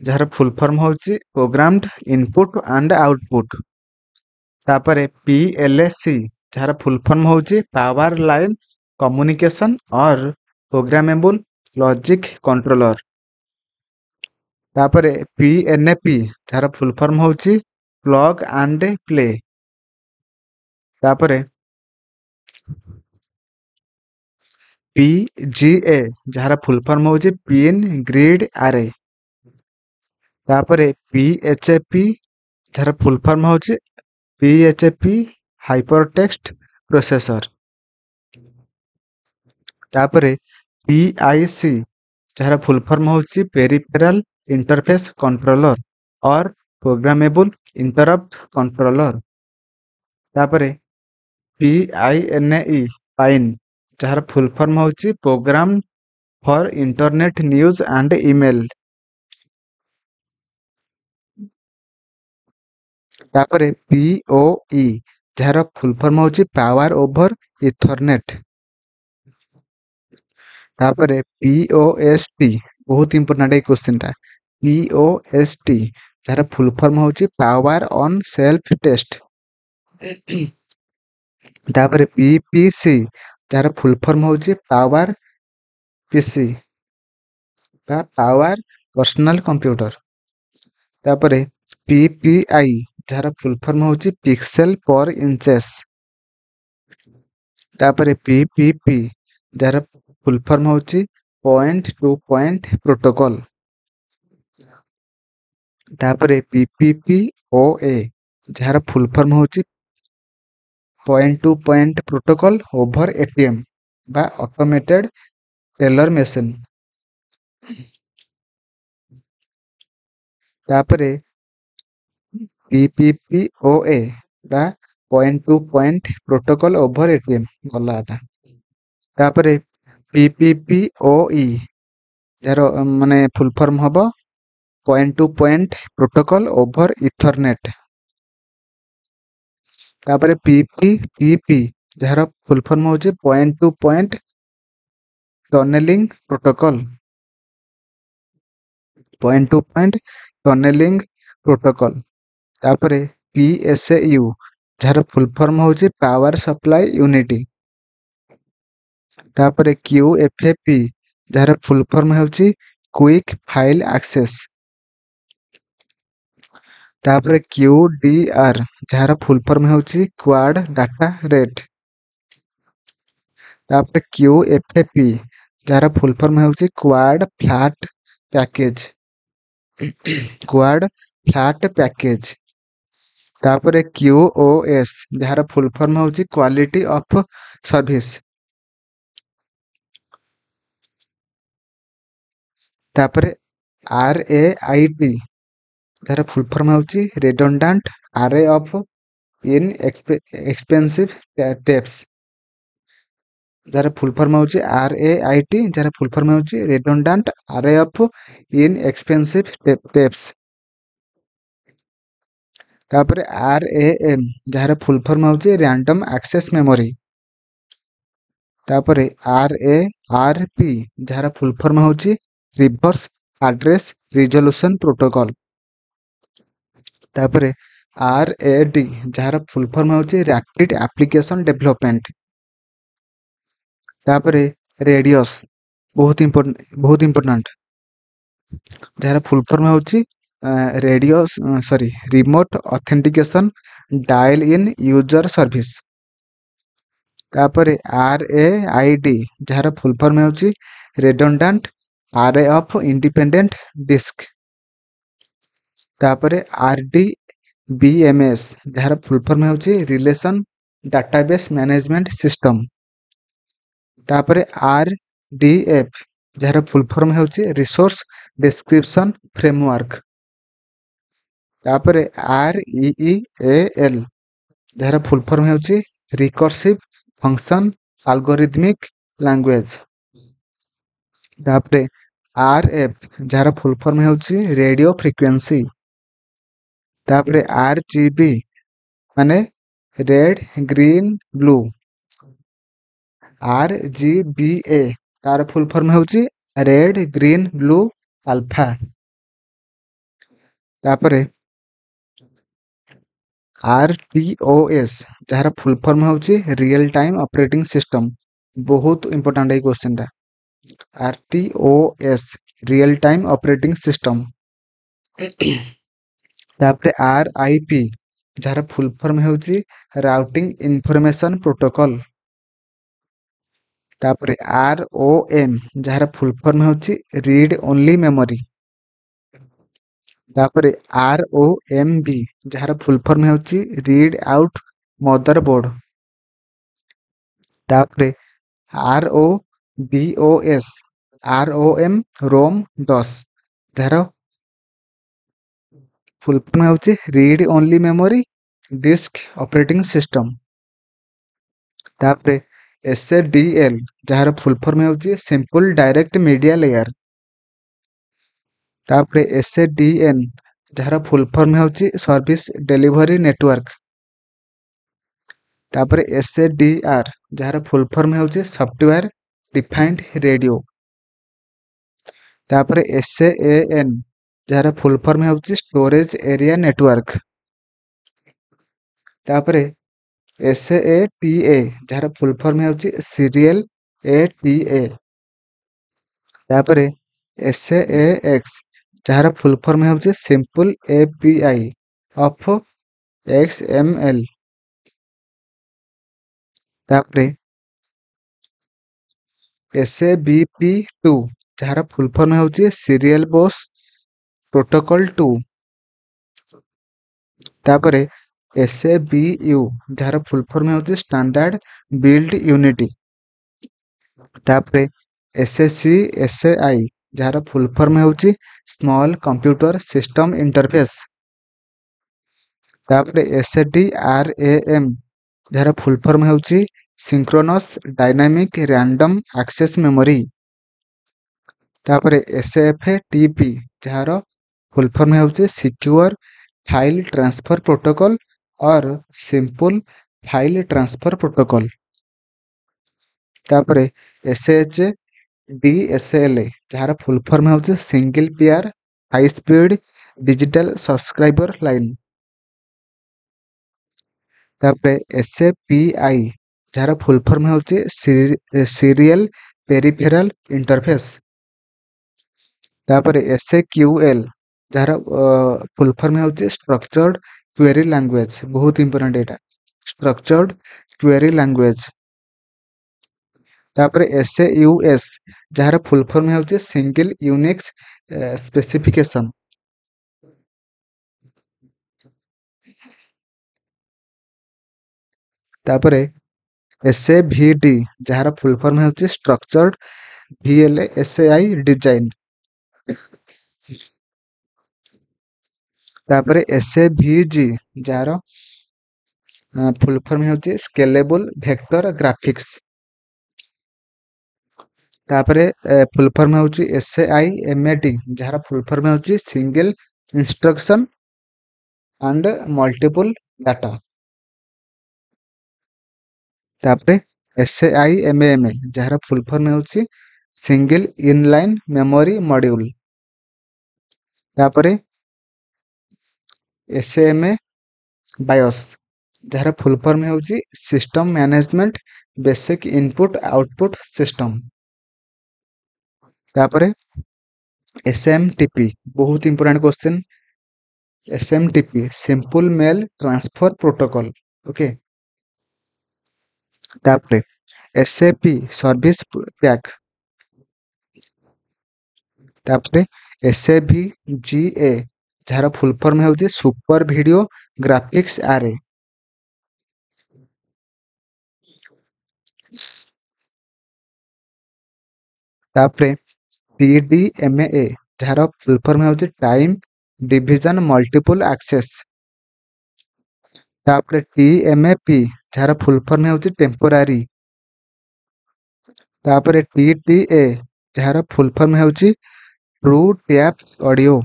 ଯାହାର ଫୁଲ୍ ଫର୍ମ ହେଉଛି ପ୍ରୋଗ୍ରାମଡ ଇନପୁଟ ଆଣ୍ଡ ଆଉଟପୁଟ ତାପରେ ପି ଏଲ୍ ସି ଯାହାର ଫୁଲ୍ ଫର୍ମ ହେଉଛି power line communication or programmable logic controller ତାପରେ ପି ଏନ୍ ପି ଯାହାର ଫୁଲ୍ ଫର୍ମ ହେଉଛି ପ୍ଲଗ ଆଣ୍ଡ ପ୍ଲେ ତାପରେ ପି ଜି ଏ ଯାହାର ଫୁଲ୍ ଫର୍ମ ହେଉଛି ପିନ୍ ଗ୍ରିଡ୍ ଆରେ ତାପରେ ପି ଏଚ୍ ପି ଯାହାର ଫୁଲ୍ ଫର୍ମ ହେଉଛି P H P hyper text processor ତାପରେ ପି I C ଯାହାର ଫୁଲ୍ ଫର୍ମ ହେଉଛି peripheral interface controller or programmable interrupt controller ତାପରେ P I N E pine ଯାହାର ଫୁଲ୍ ଫର୍ମ ହେଉଛି program for internet news and email ତାପରେ ପି ଓ ଇ ଯାହାର ଫୁଲ୍ ଫର୍ମ ହେଉଛି ପାୱାର ଓଭର ଇଥରନେଟ୍ ତାପରେ ପି ଓ ଏସ୍ ଟି ବହୁତ ଇମ୍ପୋର୍ଟାଣ୍ଟ ଏଇ କ୍ୱେଶ୍ଚିନ୍ଟା ପି ଓ ଏସ୍ ଟି ଯାହାର ଫୁଲ୍ ଫର୍ମ ହେଉଛି ପାୱାର ଅନ୍ ସେଲ୍ଫ ଟେଷ୍ଟ ତାପରେ ପି ପି ସି ଯାହାର ଫୁଲ୍ ଫର୍ମ ହେଉଛି ପାୱାର ପିସି ବା ପାୱାର ପର୍ସନାଲ କମ୍ପ୍ୟୁଟର ତାପରେ ପି ପି I ଯାହାର ଫୁଲ୍ ଫର୍ମ ହେଉଛି ପିକ୍ସେଲ ପର ଇଞ୍ଚେସ୍ ତାପରେ ପି ପି ପି ଯାହାର ଫୁଲ୍ ଫର୍ମ ହେଉଛି ପଏଣ୍ଟ ଟୁ ପଏଣ୍ଟ ପ୍ରୋଟୋକଲ ତାପରେ ପି ପି ପି ଓ ଏ ଯାହାର ଫୁଲ୍ ଫର୍ମ ହେଉଛି point to point protocol over ATM ବା ଅଟୋମେଟେଡ୍ ଟେଲର ମେସିନ୍ ତାପରେ ପି ପି ପି ଓ ଏ ବା point to point protocol over ATM ଗଲା ଏଟା ତାପରେ ପି ପି ପି ଓ ଇ ଯାହାର ମାନେ ଫୁଲ୍ ଫର୍ମ ହବ point to point protocol over ethernet ତାପରେ ପି ପି ଟି ପି ଯାହାର ଫୁଲ୍ ଫର୍ମ ହେଉଛି point to point tunneling protocol point to point tunneling protocol ତାପରେ ପି ଏସ୍ ୟୁ ଯାହାର ଫୁଲ୍ ଫର୍ମ ହେଉଛି ପାୱାର ସପ୍ଲାଇ ୟୁନିଟ୍ ତାପରେ କ୍ୟୁ ଏଫ୍ ପି ଯାହାର ଫୁଲ୍ ଫର୍ମ ହେଉଛି କ୍ୱିକ୍ ଫାଇଲ୍ ଆକ୍ସେସ୍ ତାପରେ କ୍ୟୁ ଡି ଆର୍ ଯାହାର ଫୁଲ୍ ଫର୍ମ ହେଉଛି କ୍ୱାଡ୍ ଡାଟା ରେଟ୍ ତାପରେ କ୍ୟୁ ଏଫ୍ ପି ଯାହାର ଫୁଲ୍ ଫର୍ମ ହେଉଛି quad flat package quad flat package. ତାପରେ କ୍ୟୁ ଓ ଏସ୍, ଯାହାର ଫୁଲ୍ ଫର୍ମ ହେଉଛି କ୍ୱାଲିଟି ଅଫ୍ ସର୍ଭିସ୍। ତାପରେ ଆର୍ ଏ I T, ଯାହାର ଫୁଲ୍ ଫର୍ମ ହେଉଛି ରେଡଣ୍ଡାଣ୍ଟ ଆରେ ଅଫ୍ ଇନ୍ ଏକ୍ସପେନ୍ସିଭ୍ ଟେପ୍ସ। ଯାହାର ଫୁଲ୍ ଫର୍ମ ହେଉଛି ଆର୍ ଏ I T, ଯାହାର ଫୁଲ୍ ଫର୍ମ ହେଉଛି ରେଡଣ୍ଡାଣ୍ଟ ଆରେ ଅଫ୍ ଇନ୍ ଏକ୍ସପେନ୍ସିଭ୍ ଟେପ୍ସ। ତାପରେ ଆର୍ ଏ ଏମ୍, ଯାହାର ଫୁଲ୍ ଫର୍ମ ହେଉଛି ର୍ୟାଣ୍ଡମ୍ ଆକ୍ସେସ୍ ମେମୋରି। ତାପରେ ଆର୍ ଏ ଆର୍ ପି, ଯାହାର ଫୁଲ୍ ଫର୍ମ ହେଉଛି ରିଭର୍ସ ଆଡ୍ରେସ୍ ରିଜଲ୍ୟୁସନ୍ ପ୍ରୋଟୋକଲ୍। ତାପରେ ଆର୍ ଏ ଡି, ଯାହାର ଫୁଲ୍ ଫର୍ମ ହେଉଛି ରାପିଡ୍ ଆପ୍ଲିକେସନ୍ ଡେଭଲପମେଣ୍ଟ। ତାପରେ ରେଡ଼ିୟସ୍, ବହୁତ ବହୁତ ଇମ୍ପୋର୍ଟାଣ୍ଟ, ଯାହାର ଫୁଲ୍ ଫର୍ମ ହେଉଛି radius sorry remote authentication dial in user service. ତାପରେ ଆର୍ ଏ I D, ଯାହାର ଫୁଲ୍ ଫର୍ମ ହେଉଛି ରେଡଣ୍ଡାଣ୍ଟ ଆରେ ଅଫ୍ ଇଣ୍ଡିପେଣ୍ଡେଣ୍ଟ ଡିସ୍କ। ତାପରେ R D B M S, ଯାହାର ଫୁଲ୍ ଫର୍ମ ହେଉଛି ରିଲେସନ୍ ଡାଟାବେସ୍ ମ୍ୟାନେଜମେଣ୍ଟ ସିଷ୍ଟମ୍। ତାପରେ ଆର୍ ଡି ଏଫ୍, ଯାହାର ଫୁଲ୍ ଫର୍ମ ହେଉଛି ରିସୋର୍ସ ଡେସ୍କ୍ରିପସନ୍ ଫ୍ରେମୱାର୍କ। ତାପରେ R E E A L, ଯାହାର ଫୁଲ୍ ଫର୍ମ ହେଉଛି ରିକର୍ସିଭ୍ ଫଙ୍କସନ୍ ଆଲଗୋରିଦମିକ୍ ଲାଙ୍ଗୁଏଜ୍। ତାପରେ ଆର୍ ଏଫ୍, ଯାହାର ଫୁଲ୍ ଫର୍ମ ହେଉଛି ରେଡ଼ିଓ ଫ୍ରିକ୍ୱେନ୍ସି। ତାପରେ ଆର୍ ଜି ବି ମାନେ red green blue. R G B A, ତାର ଫୁଲ୍ ଫର୍ମ ହେଉଛି ରେଡ୍ ଗ୍ରୀନ୍ ବ୍ଲୁ ଆଲଫା। ତାପରେ ଆର୍ ଟି ଓ ଏସ୍, ଯାହାର ଫୁଲ୍ ଫର୍ମ ହେଉଛି ରିଏଲ୍ ଟାଇମ୍ ଅପରେଟିଂ ସିଷ୍ଟମ୍। ବହୁତ ଇମ୍ପୋର୍ଟାଣ୍ଟ ଏଇ କ୍ୱେଶ୍ଚିନ୍ଟା। R T O S, real time operating system. ତାପରେ ଆର୍ I P, ଯାହାର ଫୁଲ୍ ଫର୍ମ ହେଉଛି ରାଉଟିଂ ଇନଫର୍ମେସନ୍ ପ୍ରୋଟୋକଲ୍। ତାପରେ ଆର୍ ଓ ଏମ୍, ଯାହାର ଫୁଲ୍ ଫର୍ମ ହେଉଛି ରିଡ୍ ଓନ୍ଲି ମେମୋରି। ତାପରେ ଆର୍ ଓ ଏମ୍ ବି, ଯାହାର ଫୁଲ୍ ଫର୍ମ ହେଉଛି ରିଡ୍ ଆଉଟ୍ ମଦର ବୋର୍ଡ଼। ତାପରେ ଆର୍ ଓ ବି ଓ ଏସ୍, ଆର୍ ଓ ଏମ୍ ରୋମ୍ ଦଶ, ଯାହାର ଫୁଲ୍ ଫର୍ମ ହେଉଛି read only memory disk operating system. ତାପରେ ଏସ୍ ଏ ଡି ଏଲ୍, ଯାହାର ଫୁଲ୍ ଫର୍ମ ହେଉଛି ସିମ୍ପଲ୍ ଡାଇରେକ୍ଟ ମିଡ଼ିଆ ଲେୟାର। ତାପରେ ଏସ୍ ଏ ଡି ଏନ୍, ଯାହାର ଫୁଲ୍ ଫର୍ମ ହେଉଛି ସର୍ଭିସ୍ ଡେଲିଭରି ନେଟୱାର୍କ। ତାପରେ ଏସ୍ ଏ ଡି ଆର୍, ଯାହାର ଫୁଲ୍ ଫର୍ମ ହେଉଛି ସଫ୍ଟୱେୟାର ଡିଫାଇଣ୍ଡ ରେଡ଼ିଓ। ତାପରେ ଏସ୍ ଏ ଏନ୍, ଯାହାର ଫୁଲ୍ ଫର୍ମ ହେଉଛି ଷ୍ଟୋରେଜ୍ ଏରିଆ ନେଟୱାର୍କ। ତାପରେ ଏସ୍ ଏ ଟି ଏ, ଯାହାର ଫୁଲ୍ ଫର୍ମ ହେଉଛି ସିରିଏଲ୍ ଏ ଟି ଏ। ତାପରେ ଏସ୍ ଏ ଏକ୍ସ, ଯାହାର ଫୁଲ୍ ଫର୍ମ ହେଉଛି simple A P I of X M L. ତାପରେ S A B P two, ଯାହାର ଫୁଲ୍ ଫର୍ମ ହେଉଛି ସିରିଏଲ୍ ବସ୍ ପ୍ରୋଟୋକଲ୍ ଟୁ। ତାପରେ ଏସ୍ ଏ ବି you, ଯାହାର ଫୁଲ୍ ଫର୍ମ ହେଉଛି ଷ୍ଟାଣ୍ଡାର୍ଡ ବିଲ୍ଡ ୟୁନିଟି। ତାପରେ S A C S A I, ଯାହାର ଫୁଲ୍ ଫର୍ମ ହେଉଛି ସ୍ମଲ୍ କମ୍ପ୍ୟୁଟର ସିଷ୍ଟମ୍ ଇଣ୍ଟରଫେସ୍। ତାପରେ S A D R A M, ଯାହାର ଫୁଲ୍ ଫର୍ମ ହେଉଛି synchronous dynamic random access memory. ତାପରେ ଏସ୍ ଏଫ୍ ଟି ପି, ଯାହାର ଫୁଲ୍ ଫର୍ମ ହେଉଛି secure file transfer protocol or simple file transfer protocol. ତାପରେ S H D S L, ଯାହାର ଫୁଲ୍ ଫର୍ମ ହେଉଛି single pair high speed digital subscriber line. ତାପରେ ଏସ୍ ଏ ପି I, ଯାହାର ଫୁଲ୍ ଫର୍ମ ହେଉଛି ସିରିଏଲ୍ ପେରିଫେରାଲ୍ ଇଣ୍ଟରଫେସ୍। ତାପରେ ଏସ୍ ଏ କ୍ୟୁ ଏଲ୍, ଯାହାର ଫୁଲ୍ ଫର୍ମ ହେଉଛି ଷ୍ଟ୍ରକ୍ଚର୍ଡ କ୍ୱେରି ଲାଙ୍ଗୁଏଜ୍। ବହୁତ ଇମ୍ପୋର୍ଟାଣ୍ଟ ଏଇଟା, ଷ୍ଟ୍ରକ୍ଚର୍ଡ କ୍ୱେରି ଲାଙ୍ଗୁଏଜ୍। ତାପରେ ଏସ୍ ଏ ୟୁ ଏସ୍, ଯାହାର ଫୁଲ୍ ଫର୍ମ ହେଉଛି ସିଙ୍ଗଲ ୟୁନିକ୍ସ ସ୍ପେସିଫିକେସନ୍। ତାପରେ ଏସ୍ ଏ ଭି ଡି, ଯାହାର ଫୁଲ୍ ଫର୍ମ ହେଉଛି structured V L S A I design. ତାପରେ ଏସ୍ ଏ ଭି ଜି, ଯାହାର ଫୁଲ୍ ଫର୍ମ ହେଉଛି ସ୍କେଲେବୁଲ୍ ଭେକ୍ଟର ଗ୍ରାଫିକ୍ସ। ତାପରେ ଫୁଲ୍ ଫର୍ମ ହେଉଛି S A I M A T, ଯାହାର ଫୁଲ୍ ଫର୍ମ ହେଉଛି single instruction and multiple data. ତାପରେ S A I M M, ଯାହାର ଫୁଲ୍ ଫର୍ମ ହେଉଛି ସିଙ୍ଗଲ ଇନଲାଇନ୍ ମେମୋରି ମଡ୍ୟୁଲ୍। ତାପରେ ଏସ୍ ଏମ୍ ଏ ବାୟୋସ୍, ଯାହାର ଫୁଲ୍ ଫର୍ମ ହେଉଛି system management basic input output system. ତାପରେ ଏସ୍ ଏମ୍ ଟି ପି, ବହୁତ important question, S M T P simple mail transfer protocol. Okay. ତାପରେ S A P service pack. ତାପରେ ଏସ୍ ଏ ଭି ଜି ଏ, ଯାହାର ଫୁଲ୍ ଫର୍ମ ହେଉଛି ସୁପର ଭିଡ଼ିଓ ଗ୍ରାଫିକ୍ସ ଆରେ। ତାପରେ ଟି ଡି ଏମ୍ ଏ, ଯାହାର ଫୁଲ୍ ଫର୍ମ ହେଉଛି ଟାଇମ୍ ଡିଭିଜନ ମଲ୍ଟିପୁଲ୍ ଆକ୍ସେସ୍। ତାପରେ ଟି ଏମ୍ ଏ ପି, ଯାହାର ଫୁଲ୍ ଫର୍ମ ହେଉଛି ଟେମ୍ପୋରାରୀ। ତାପରେ ଟି ଟି ଏ, ଯାହାର ଫୁଲ୍ ଫର୍ମ ହେଉଛି ଟ୍ରୁ ଟ୍ୟାପ୍ ଅଡ଼ିଓ।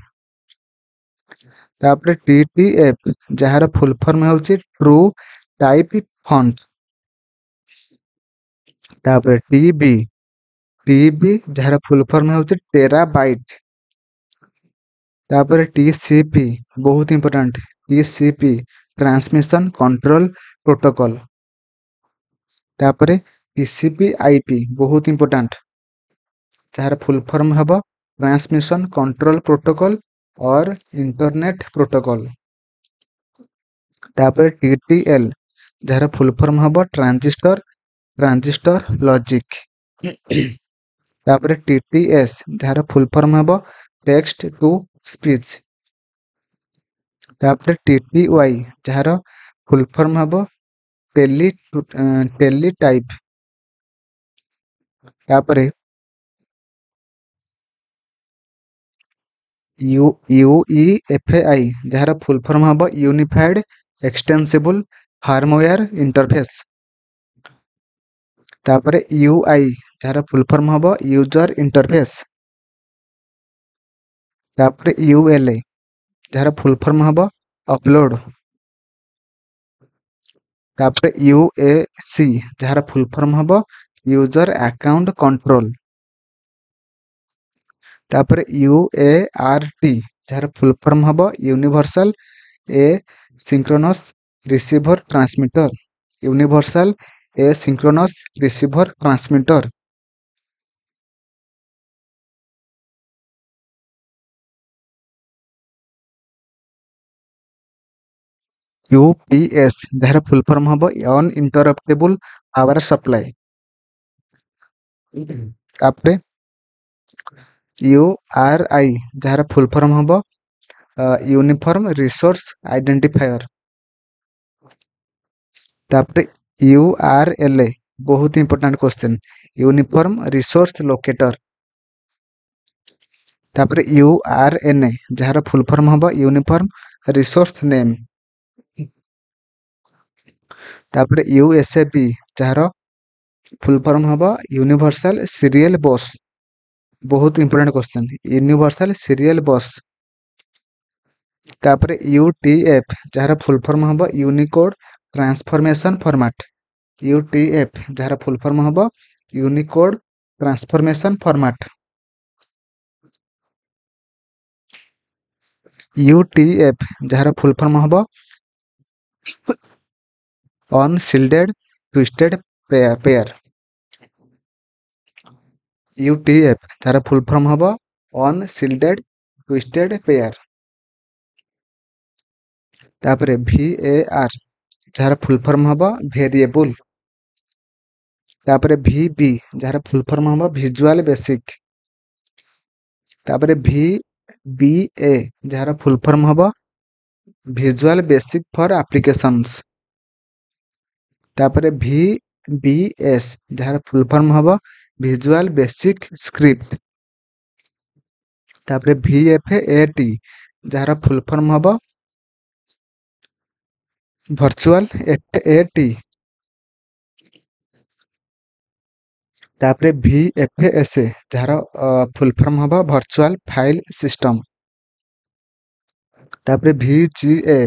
ତାପରେ ଟି ଟି ଏଫ୍, ଯାହାର ଫୁଲ୍ ଫର୍ମ ହେଉଛି ଟ୍ରୁ ଟାଇପ୍ ଫଣ୍ଟ। ତାପରେ ଟି ବି ଟି ବି, ଯାହାର ଫୁଲ୍ ଫର୍ମ ହେଉଛି ଟେରା ବାଇଟ୍। ତାପରେ ଟି ସି ପି, ବହୁତ important, T C P transmission control protocol. ତାପରେ T C P I P, ବହୁତ ଇମ୍ପୋର୍ଟାଣ୍ଟ, ଯାହାର ଫୁଲ୍ ଫର୍ମ ହେବ transmission control protocol or internet protocol. ତାପରେ ଟି ଟି ଏଲ୍, ଯାହାର ଫୁଲ୍ ଫର୍ମ ହେବ ଟ୍ରାଞ୍ଜିଷ୍ଟର ଟ୍ରାଞ୍ଜିଷ୍ଟର ଲଜିକ୍। ତାପରେ ଟି ଟି ଏସ୍, ଯାହାର ଫୁଲ୍ ଫର୍ମ ହେବ ଟେକ୍ସଟ ଟୁ ସ୍ପିଚ୍। ତାପରେ ଟି ଟି ୱାଇ, ଯାହାର ଫୁଲ୍ ଫର୍ମ ହେବ ଟେଲି ଟେଲି ଟାଇପ୍। ତାପରେ U U E F I, ଯାହାର ଫୁଲ୍ ଫର୍ମ ହେବ ୟୁନିଫାଏଡ୍ ଏକ୍ସଟେନ୍ସିବୁଲ୍ ଫାର୍ମୱେୟାର ଇଣ୍ଟରଫେସ୍। ତାପରେ you I, ଯାହାର ଫୁଲ୍ ଫର୍ମ ହେବ ୟୁଜର ଇଣ୍ଟରଫେସ୍। ତାପରେ ୟୁ ଏଲ୍ ଏ, ଯାହାର ଫୁଲ୍ ଫର୍ମ ହେବ ଅପଲୋଡ଼। ତାପରେ ୟୁ ଏ ସି, ଯାହାର ଫୁଲ୍ ଫର୍ମ ହେବ ୟୁଜର ଆକାଉଣ୍ଟ କଣ୍ଟ୍ରୋଲ। ତାପରେ ୟୁ ଏ ଆର୍ ଟି, ଯାହାର ଫୁଲ୍ ଫର୍ମ ହେବ universal asynchronous receiver transmitter. Universal asynchronous receiver transmitter. U P S, ଯାହାର ଫୁଲ୍ ଫର୍ମ ହେବ ଅନଇଣ୍ଟରପ୍ଟେବୁଲ୍ ପାୱାର ସପ୍ଲାଏ। ତାପରେ you R I, ଯାହାର ଫୁଲ୍ ଫର୍ମ ହେବ ୟୁନିଫର୍ମ ରିସୋର୍ସ ଆଇଡେଣ୍ଟିଫାୟର। ତାପରେ you R L A, ବହୁତ important question, uniform resource locator. ତାପରେ you R N A, ଯାହାର ଫୁଲ୍ ଫର୍ମ ହେବ ୟୁନିଫର୍ମ ରିସୋର୍ସ ନେମ୍। ତାପରେ ୟୁ ଏସ୍ ଏ ବି, ଯାହାର ଫୁଲ୍ ଫର୍ମ ହେବ ୟୁନିଭର୍ସାଲ ସିରିଏଲ ବସ୍, ବହୁତ important question, universal serial bus. ତାପରେ ୟୁ ଟି ଏଫ୍, ଯାହାର ଫୁଲ୍ ଫର୍ମ ହେବ Unicode transformation format. U T F, ଯାହାର ଫୁଲ୍ ଫର୍ମ ହେବ Unicode transformation format. U T F, ଯାହାର ଫୁଲ୍ ଫର୍ମ ହେବ ଅନସିଲ୍ଡେଡ୍ ଟ୍ୱିଷ୍ଟେଡ୍ ପେୟାର। ୟୁ ଟି ଏଫ୍, ଯାହାର ଫୁଲ୍ ଫର୍ମ ହେବ ଅନସିଲ୍ଡେଡ୍ ଟ୍ୱିଷ୍ଟେଡ୍ ପେୟାର। ତାପରେ ଭି ଏ ଆର୍, ଯାହାର ଫୁଲ୍ ଫର୍ମ ହେବ ଭେରିଏବୁଲ୍। ତାପରେ ଭି ବି, ଯାହାର ଫୁଲ୍ ଫର୍ମ ହେବ ଭିଜୁଆଲ ବେସିକ୍। ତାପରେ ଭି ବି ଏ, ଯାହାର ଫୁଲ୍ ଫର୍ମ ହେବ ଭିଜୁଆଲ ବେସିକ୍ ଫର୍ ଆପ୍ଲିକେସନ୍ସ। ତାପରେ ଭି ବି ଏସ୍ ଯାହାର ଫୁଲ୍ ଫର୍ମ ହେବ ଭିଜୁଆଲ ବେସିକ୍ ସ୍କ୍ରିପ୍ଟ। ତାପରେ ଭି ଏଫ୍ ଏ ଟି ଯାହାର ଫୁଲ୍ ଫର୍ମ ହେବ ଭର୍ଚୁଆଲ ଏଫ୍ ଏ ଟି। ତାପରେ ଭି ଏଫ୍ ଏସ୍ ଯାହାର ଫୁଲ୍ ଫର୍ମ ହେବ ଭର୍ଚୁଆଲ ଫାଇଲ୍ ସିଷ୍ଟମ୍। ତାପରେ ଭି ଜି ଏ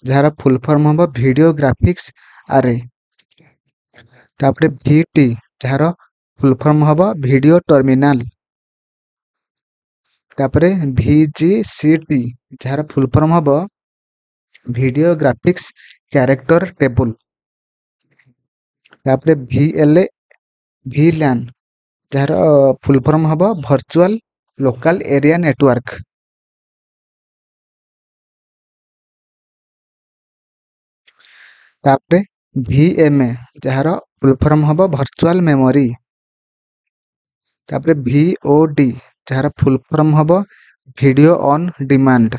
ଯାହାର ଫୁଲ୍ ଫର୍ମ ହେବ ଭିଡ଼ିଓ ଗ୍ରାଫିକ୍ସ ଆରେ। ତାପରେ ଭି ଟି ଯାହାର ଫୁଲ୍ ଫର୍ମ ହେବ ଭିଡ଼ିଓ ଟର୍ମିନାଲ। ତାପରେ ଭି ଜି ସି ଟି ଯାହାର ଫୁଲ୍ ଫର୍ମ ହେବ ଭିଡ଼ିଓ ଗ୍ରାଫିକ୍ସ କ୍ୟାରେକ୍ଟର ଟେବୁଲ। ତାପରେ ଭି ଏଲ୍ ଭି ଲ୍ୟାନ୍ ଯାହାର ଫୁଲ୍ ଫର୍ମ ହେବ ଭର୍ଚୁଆଲ ଲୋକାଲ ଏରିଆ ନେଟୱାର୍କ। ତାପରେ ଭି ଏମ୍ ଏ ଯାହାର ଫୁଲ୍ ଫର୍ମ ହେବ ଭର୍ଚୁଆଲ ମେମୋରି। ତାପରେ ଭି ଓ ଡି ଯାହାର ଫୁଲ୍ ଫର୍ମ ହେବ ଭିଡ଼ିଓ ଅନ୍ ଡିମାଣ୍ଡ।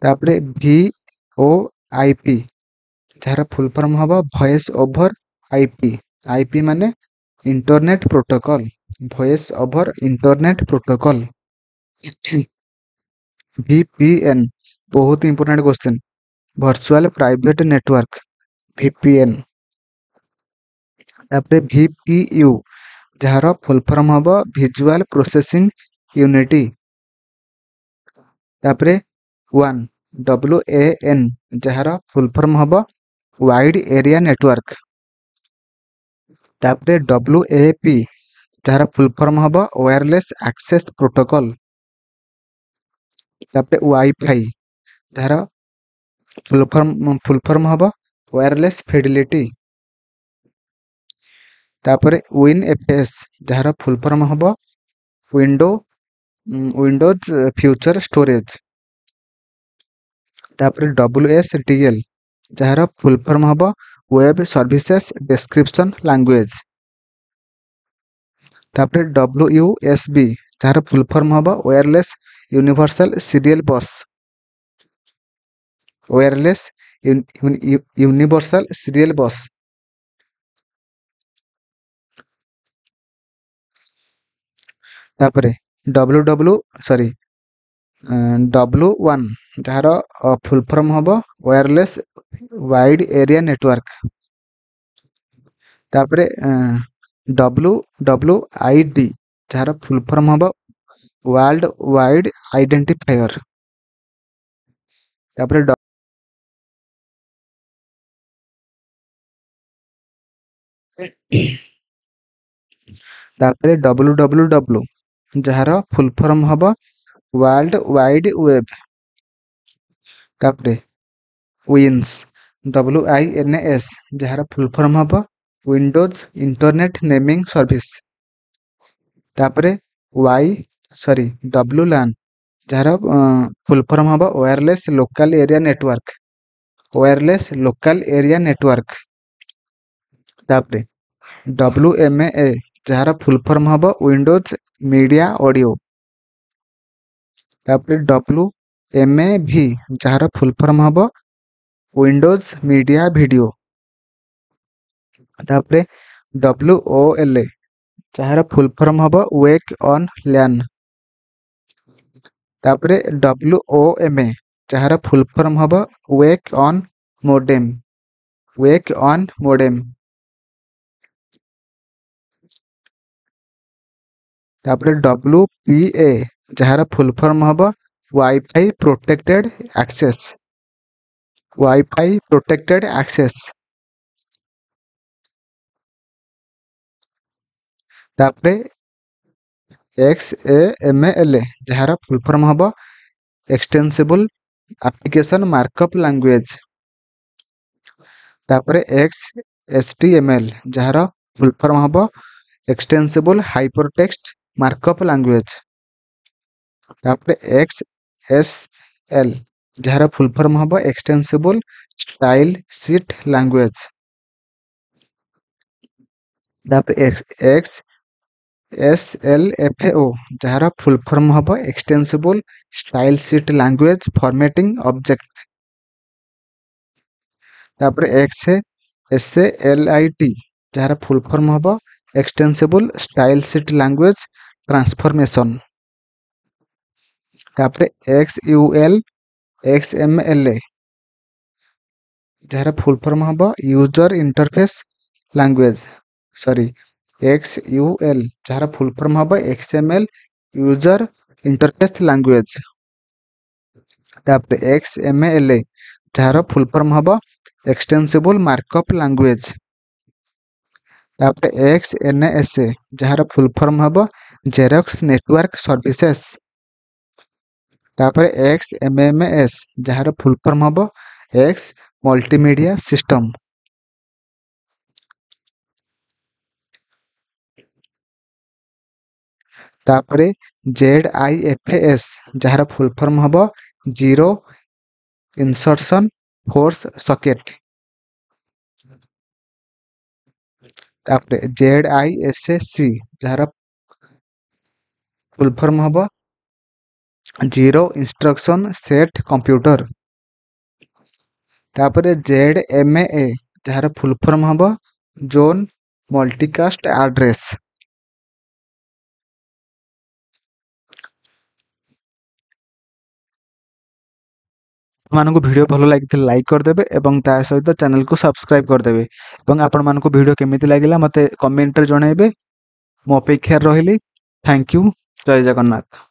ତାପରେ ଭି ଓ I P ଯାହାର ଫୁଲ୍ ଫର୍ମ ହେବ voice over I P. I P ମାନେ internet protocol, voice over internet protocol. V P N ବହୁତ important question, virtual private network V P N. ତାପରେ ଭି ପି ୟୁ ଯାହାର ଫୁଲ୍ ଫର୍ମ ହେବ ଭିଜୁଆଲ ପ୍ରୋସେସିଂ ୟୁନିଟି। ତାପରେ ୱାନ୍ ଡବ୍ଲ୍ୟୁ ଏ ଏନ୍ ଯାହାର ଫୁଲ୍ ଫର୍ମ ହେବ ୱାଇଡ୍ ଏରିଆ ନେଟୱାର୍କ। ତାପରେ ଡବ୍ଲ୍ୟୁ ଏ ପି ଯାହାର ଫୁଲ୍ ଫର୍ମ ହେବ ୱାୟାରଲେସ୍ ଆକ୍ସେସ୍ ପ୍ରୋଟୋକଲ୍। ତାପରେ ୱାଇଫାଇ ଯାହାର ଫୁଲ୍ ଫର୍ମ ଫୁଲ୍ ଫର୍ମ ହେବ ୱାୟାରଲେସ୍ ଫିଡିଲିଟି। ତାପରେ ୱିନ୍ ଏଫ୍ ଏସ୍ ଯାହାର ଫୁଲ୍ ଫର୍ମ ହେବ ୱିଣ୍ଡୋ ୱିଣ୍ଡୋଜ୍ ଫ୍ୟୁଚର ଷ୍ଟୋରେଜ୍। ତାପରେ ଡବ୍ଲ୍ୟୁ ଏସ୍ ଡି ଏଲ୍ ଯାହାର ଫୁଲ୍ ଫର୍ମ ହେବ ୱେବ୍ ସର୍ଭିସେସ୍ ଡେସ୍କ୍ରିପସନ୍ ଲାଙ୍ଗୁଏଜ୍। ତାପରେ ଡବ୍ଲ୍ୟୁ ୟୁ ଏସ୍ ବି ଯାହାର ଫୁଲ୍ ଫର୍ମ ହେବ wireless universal serial bus, wireless universal serial bus. ତାପରେ W W sorry W one ଯାହାର ଫୁଲ୍ ଫର୍ମ ହେବ ୱାୟାରଲେସ୍ ୱାଇଡ୍ ଏରିଆ ନେଟୱାର୍କ। ତାପରେ ଡବ୍ଲ୍ୟୁ ଡବ୍ଲ୍ୟୁ I D ଯାହାର ଫୁଲ୍ ଫର୍ମ ହେବ ୱାର୍ଲଡ ୱାଇଡ୍ ଆଇଡେଣ୍ଟିଫାୟର। ତାପରେ ତାପରେ ଡବ୍ଲ୍ୟୁ ଡବ୍ଲ୍ୟୁ ଡବ୍ଲ୍ୟୁ ଯାହାର ଫୁଲ୍ ଫର୍ମ ହେବ ୱାର୍ଲଡ ୱାଇଡ୍ ୱେବ୍। ତାପରେ wins W I N S ଯାହାର ଫୁଲ୍ ଫର୍ମ ହେବ ୱିଣ୍ଡୋଜ୍ ଇଣ୍ଟରନେଟ୍ ନେମିଂ ସର୍ଭିସ୍। ତାପରେ ୱାଇ ସରି ଡବ୍ଲ୍ୟୁ ଲାନ୍ ଯାହାର ଫୁଲ୍ ଫର୍ମ ହେବ wireless local area network, wireless local area network. ତାପରେ ଡବ୍ଲ୍ୟୁ ଏମ୍ ଏ ଯାହାର ଫୁଲ୍ ଫର୍ମ ହେବ ୱିଣ୍ଡୋଜ୍ ମିଡ଼ିଆ ଅଡ଼ିଓ। ତାପରେ ଡବ୍ଲ୍ୟୁ ଏମ୍ ଏ ଭି ଯାହାର ଫୁଲ୍ ଫର୍ମ ହେବ ୱିଣ୍ଡୋଜ୍ ମିଡ଼ିଆ ଭିଡ଼ିଓ। ତାପରେ ଡବ୍ଲ୍ୟୁ ଓ ଏଲ୍ ଯାହାର ଫୁଲ୍ ଫର୍ମ ହେବ ୱେକ୍ ଅନ୍ ଲ୍ୟାନ୍। ତାପରେ ଡବ୍ଲ୍ୟୁ ଓ ଏମ୍ ଏ ଯାହାର ଫୁଲ୍ ଫର୍ମ ହେବ wake on modem, wake on modem. ତାପରେ ଡବ୍ଲ୍ୟୁ ପି ଏ ଯାହାର ଫୁଲ୍ ଫର୍ମ ହେବ wifi protected access, wifi protected access. ତାପରେ ଏକ୍ସ ଏ ଏମ୍ ଏଲ୍ ଯାହାର ଫୁଲ୍ ଫର୍ମ ହେବ ଏକ୍ସଟେନ୍ସିବୁଲ୍ ଆପ୍ଲିକେସନ୍ ମାର୍କଅପ୍ ଲାଙ୍ଗୁଏଜ୍। ତାପରେ X H T M L ଯାହାର ଫୁଲ୍ ଫର୍ମ ହେବ ଏକ୍ସଟେନ୍ସିବୁଲ୍ ହାଇପରଟେକ୍ସଟ ମାର୍କଅପ୍ ଲାଙ୍ଗୁଏଜ୍। ତାପରେ ଏକ୍ସ ଏସ୍ ଏଲ୍ ଯାହାର ଫୁଲ୍ ଫର୍ମ ହେବ ଏକ୍ସଟେନ୍ସିବୁଲ୍ ଷ୍ଟାଇଲ୍ ସିଟ୍ ଲାଙ୍ଗୁଏଜ୍। ତାପରେ X X S L F O ଯାହାର ଫୁଲ୍ ଫର୍ମ ହେବ extensible style sheet language formatting object. ତାପରେ X S A L I T, ଯାହାର ଫୁଲ୍ ଫର୍ମ ହେବ ଏକ୍ସଟେନ୍ସିବୁଲ୍ ଷ୍ଟାଇଲ୍ ସିଟ୍ ଲାଙ୍ଗୁଏଜ୍ ଟ୍ରାନ୍ସଫର୍ମେସନ୍। ତାପରେ X U L X M L A, ଯାହାର ଫୁଲ୍ ଫର୍ମ ହେବ ୟୁଜର୍ ଇଣ୍ଟରଫେସ୍ ଲାଙ୍ଗୁଏଜ୍, ସରି ଏକ୍ସ ୟୁ ଏଲ୍, ଯାହାର ଫୁଲ୍ ଫର୍ମ ହେବ X M L user interface language. ତାପରେ ଏକ୍ସ ଏମ୍ ଏଲ୍ ଏ, ଯାହାର ଫୁଲ୍ ଫର୍ମ ହେବ ଏକ୍ସଟେନ୍ସିବୁଲ୍ ମାର୍କଅପ୍ ଲାଙ୍ଗୁଏଜ୍। ତାପରେ ଏକ୍ସ ଏନ୍ ଏସ୍ ଏ, ଯାହାର ଫୁଲ୍ ଫର୍ମ ହେବ ଜେରକ୍ସ ନେଟୱାର୍କ ସର୍ଭିସେସ୍। ତାପରେ ଏକ୍ସ ଏମ୍ ଏମ୍ ଏସ୍, ଯାହାର ଫୁଲ୍ ଫର୍ମ ହେବ ଏକ୍ସ ମଲ୍ଟିମିଡ଼ିଆ ସିଷ୍ଟମ୍। ତାପରେ ଜେଡ୍ I F S, ଯାହାର ଫୁଲ୍ ଫର୍ମ ହେବ ଜିରୋ ଇନସର୍ସନ୍ ଫୋର୍ସ ସକେଟ୍। ତାପରେ ଜେଡ୍ I S C, ଯାହାର ଫୁଲ୍ ଫର୍ମ ହେବ ଜିରୋ ଇନଷ୍ଟ୍ରକ୍ସନ୍ ସେଟ୍ କମ୍ପ୍ୟୁଟର। ତାପରେ ଜେଡ୍ ଏମ୍ ଏ, ଯାହାର ଫୁଲ୍ ଫର୍ମ ହେବ ଜୋନ୍ ମଲ୍ଟିକାଷ୍ଟ ଆଡ୍ରେସ୍। ଆପଣମାନଙ୍କୁ ଭିଡ଼ିଓ ଭଲ ଲାଗିଥିଲେ ଲାଇକ୍ କରିଦେବେ ଏବଂ ତା ସହିତ ଚ୍ୟାନେଲକୁ ସବସ୍କ୍ରାଇବ୍ କରିଦେବେ ଏବଂ ଆପଣମାନଙ୍କୁ ଭିଡ଼ିଓ କେମିତି ଲାଗିଲା ମୋତେ କମେଣ୍ଟରେ ଜଣାଇବେ। ମୁଁ ଅପେକ୍ଷାରେ ରହିଲି। Thank you. Jay Jagannath.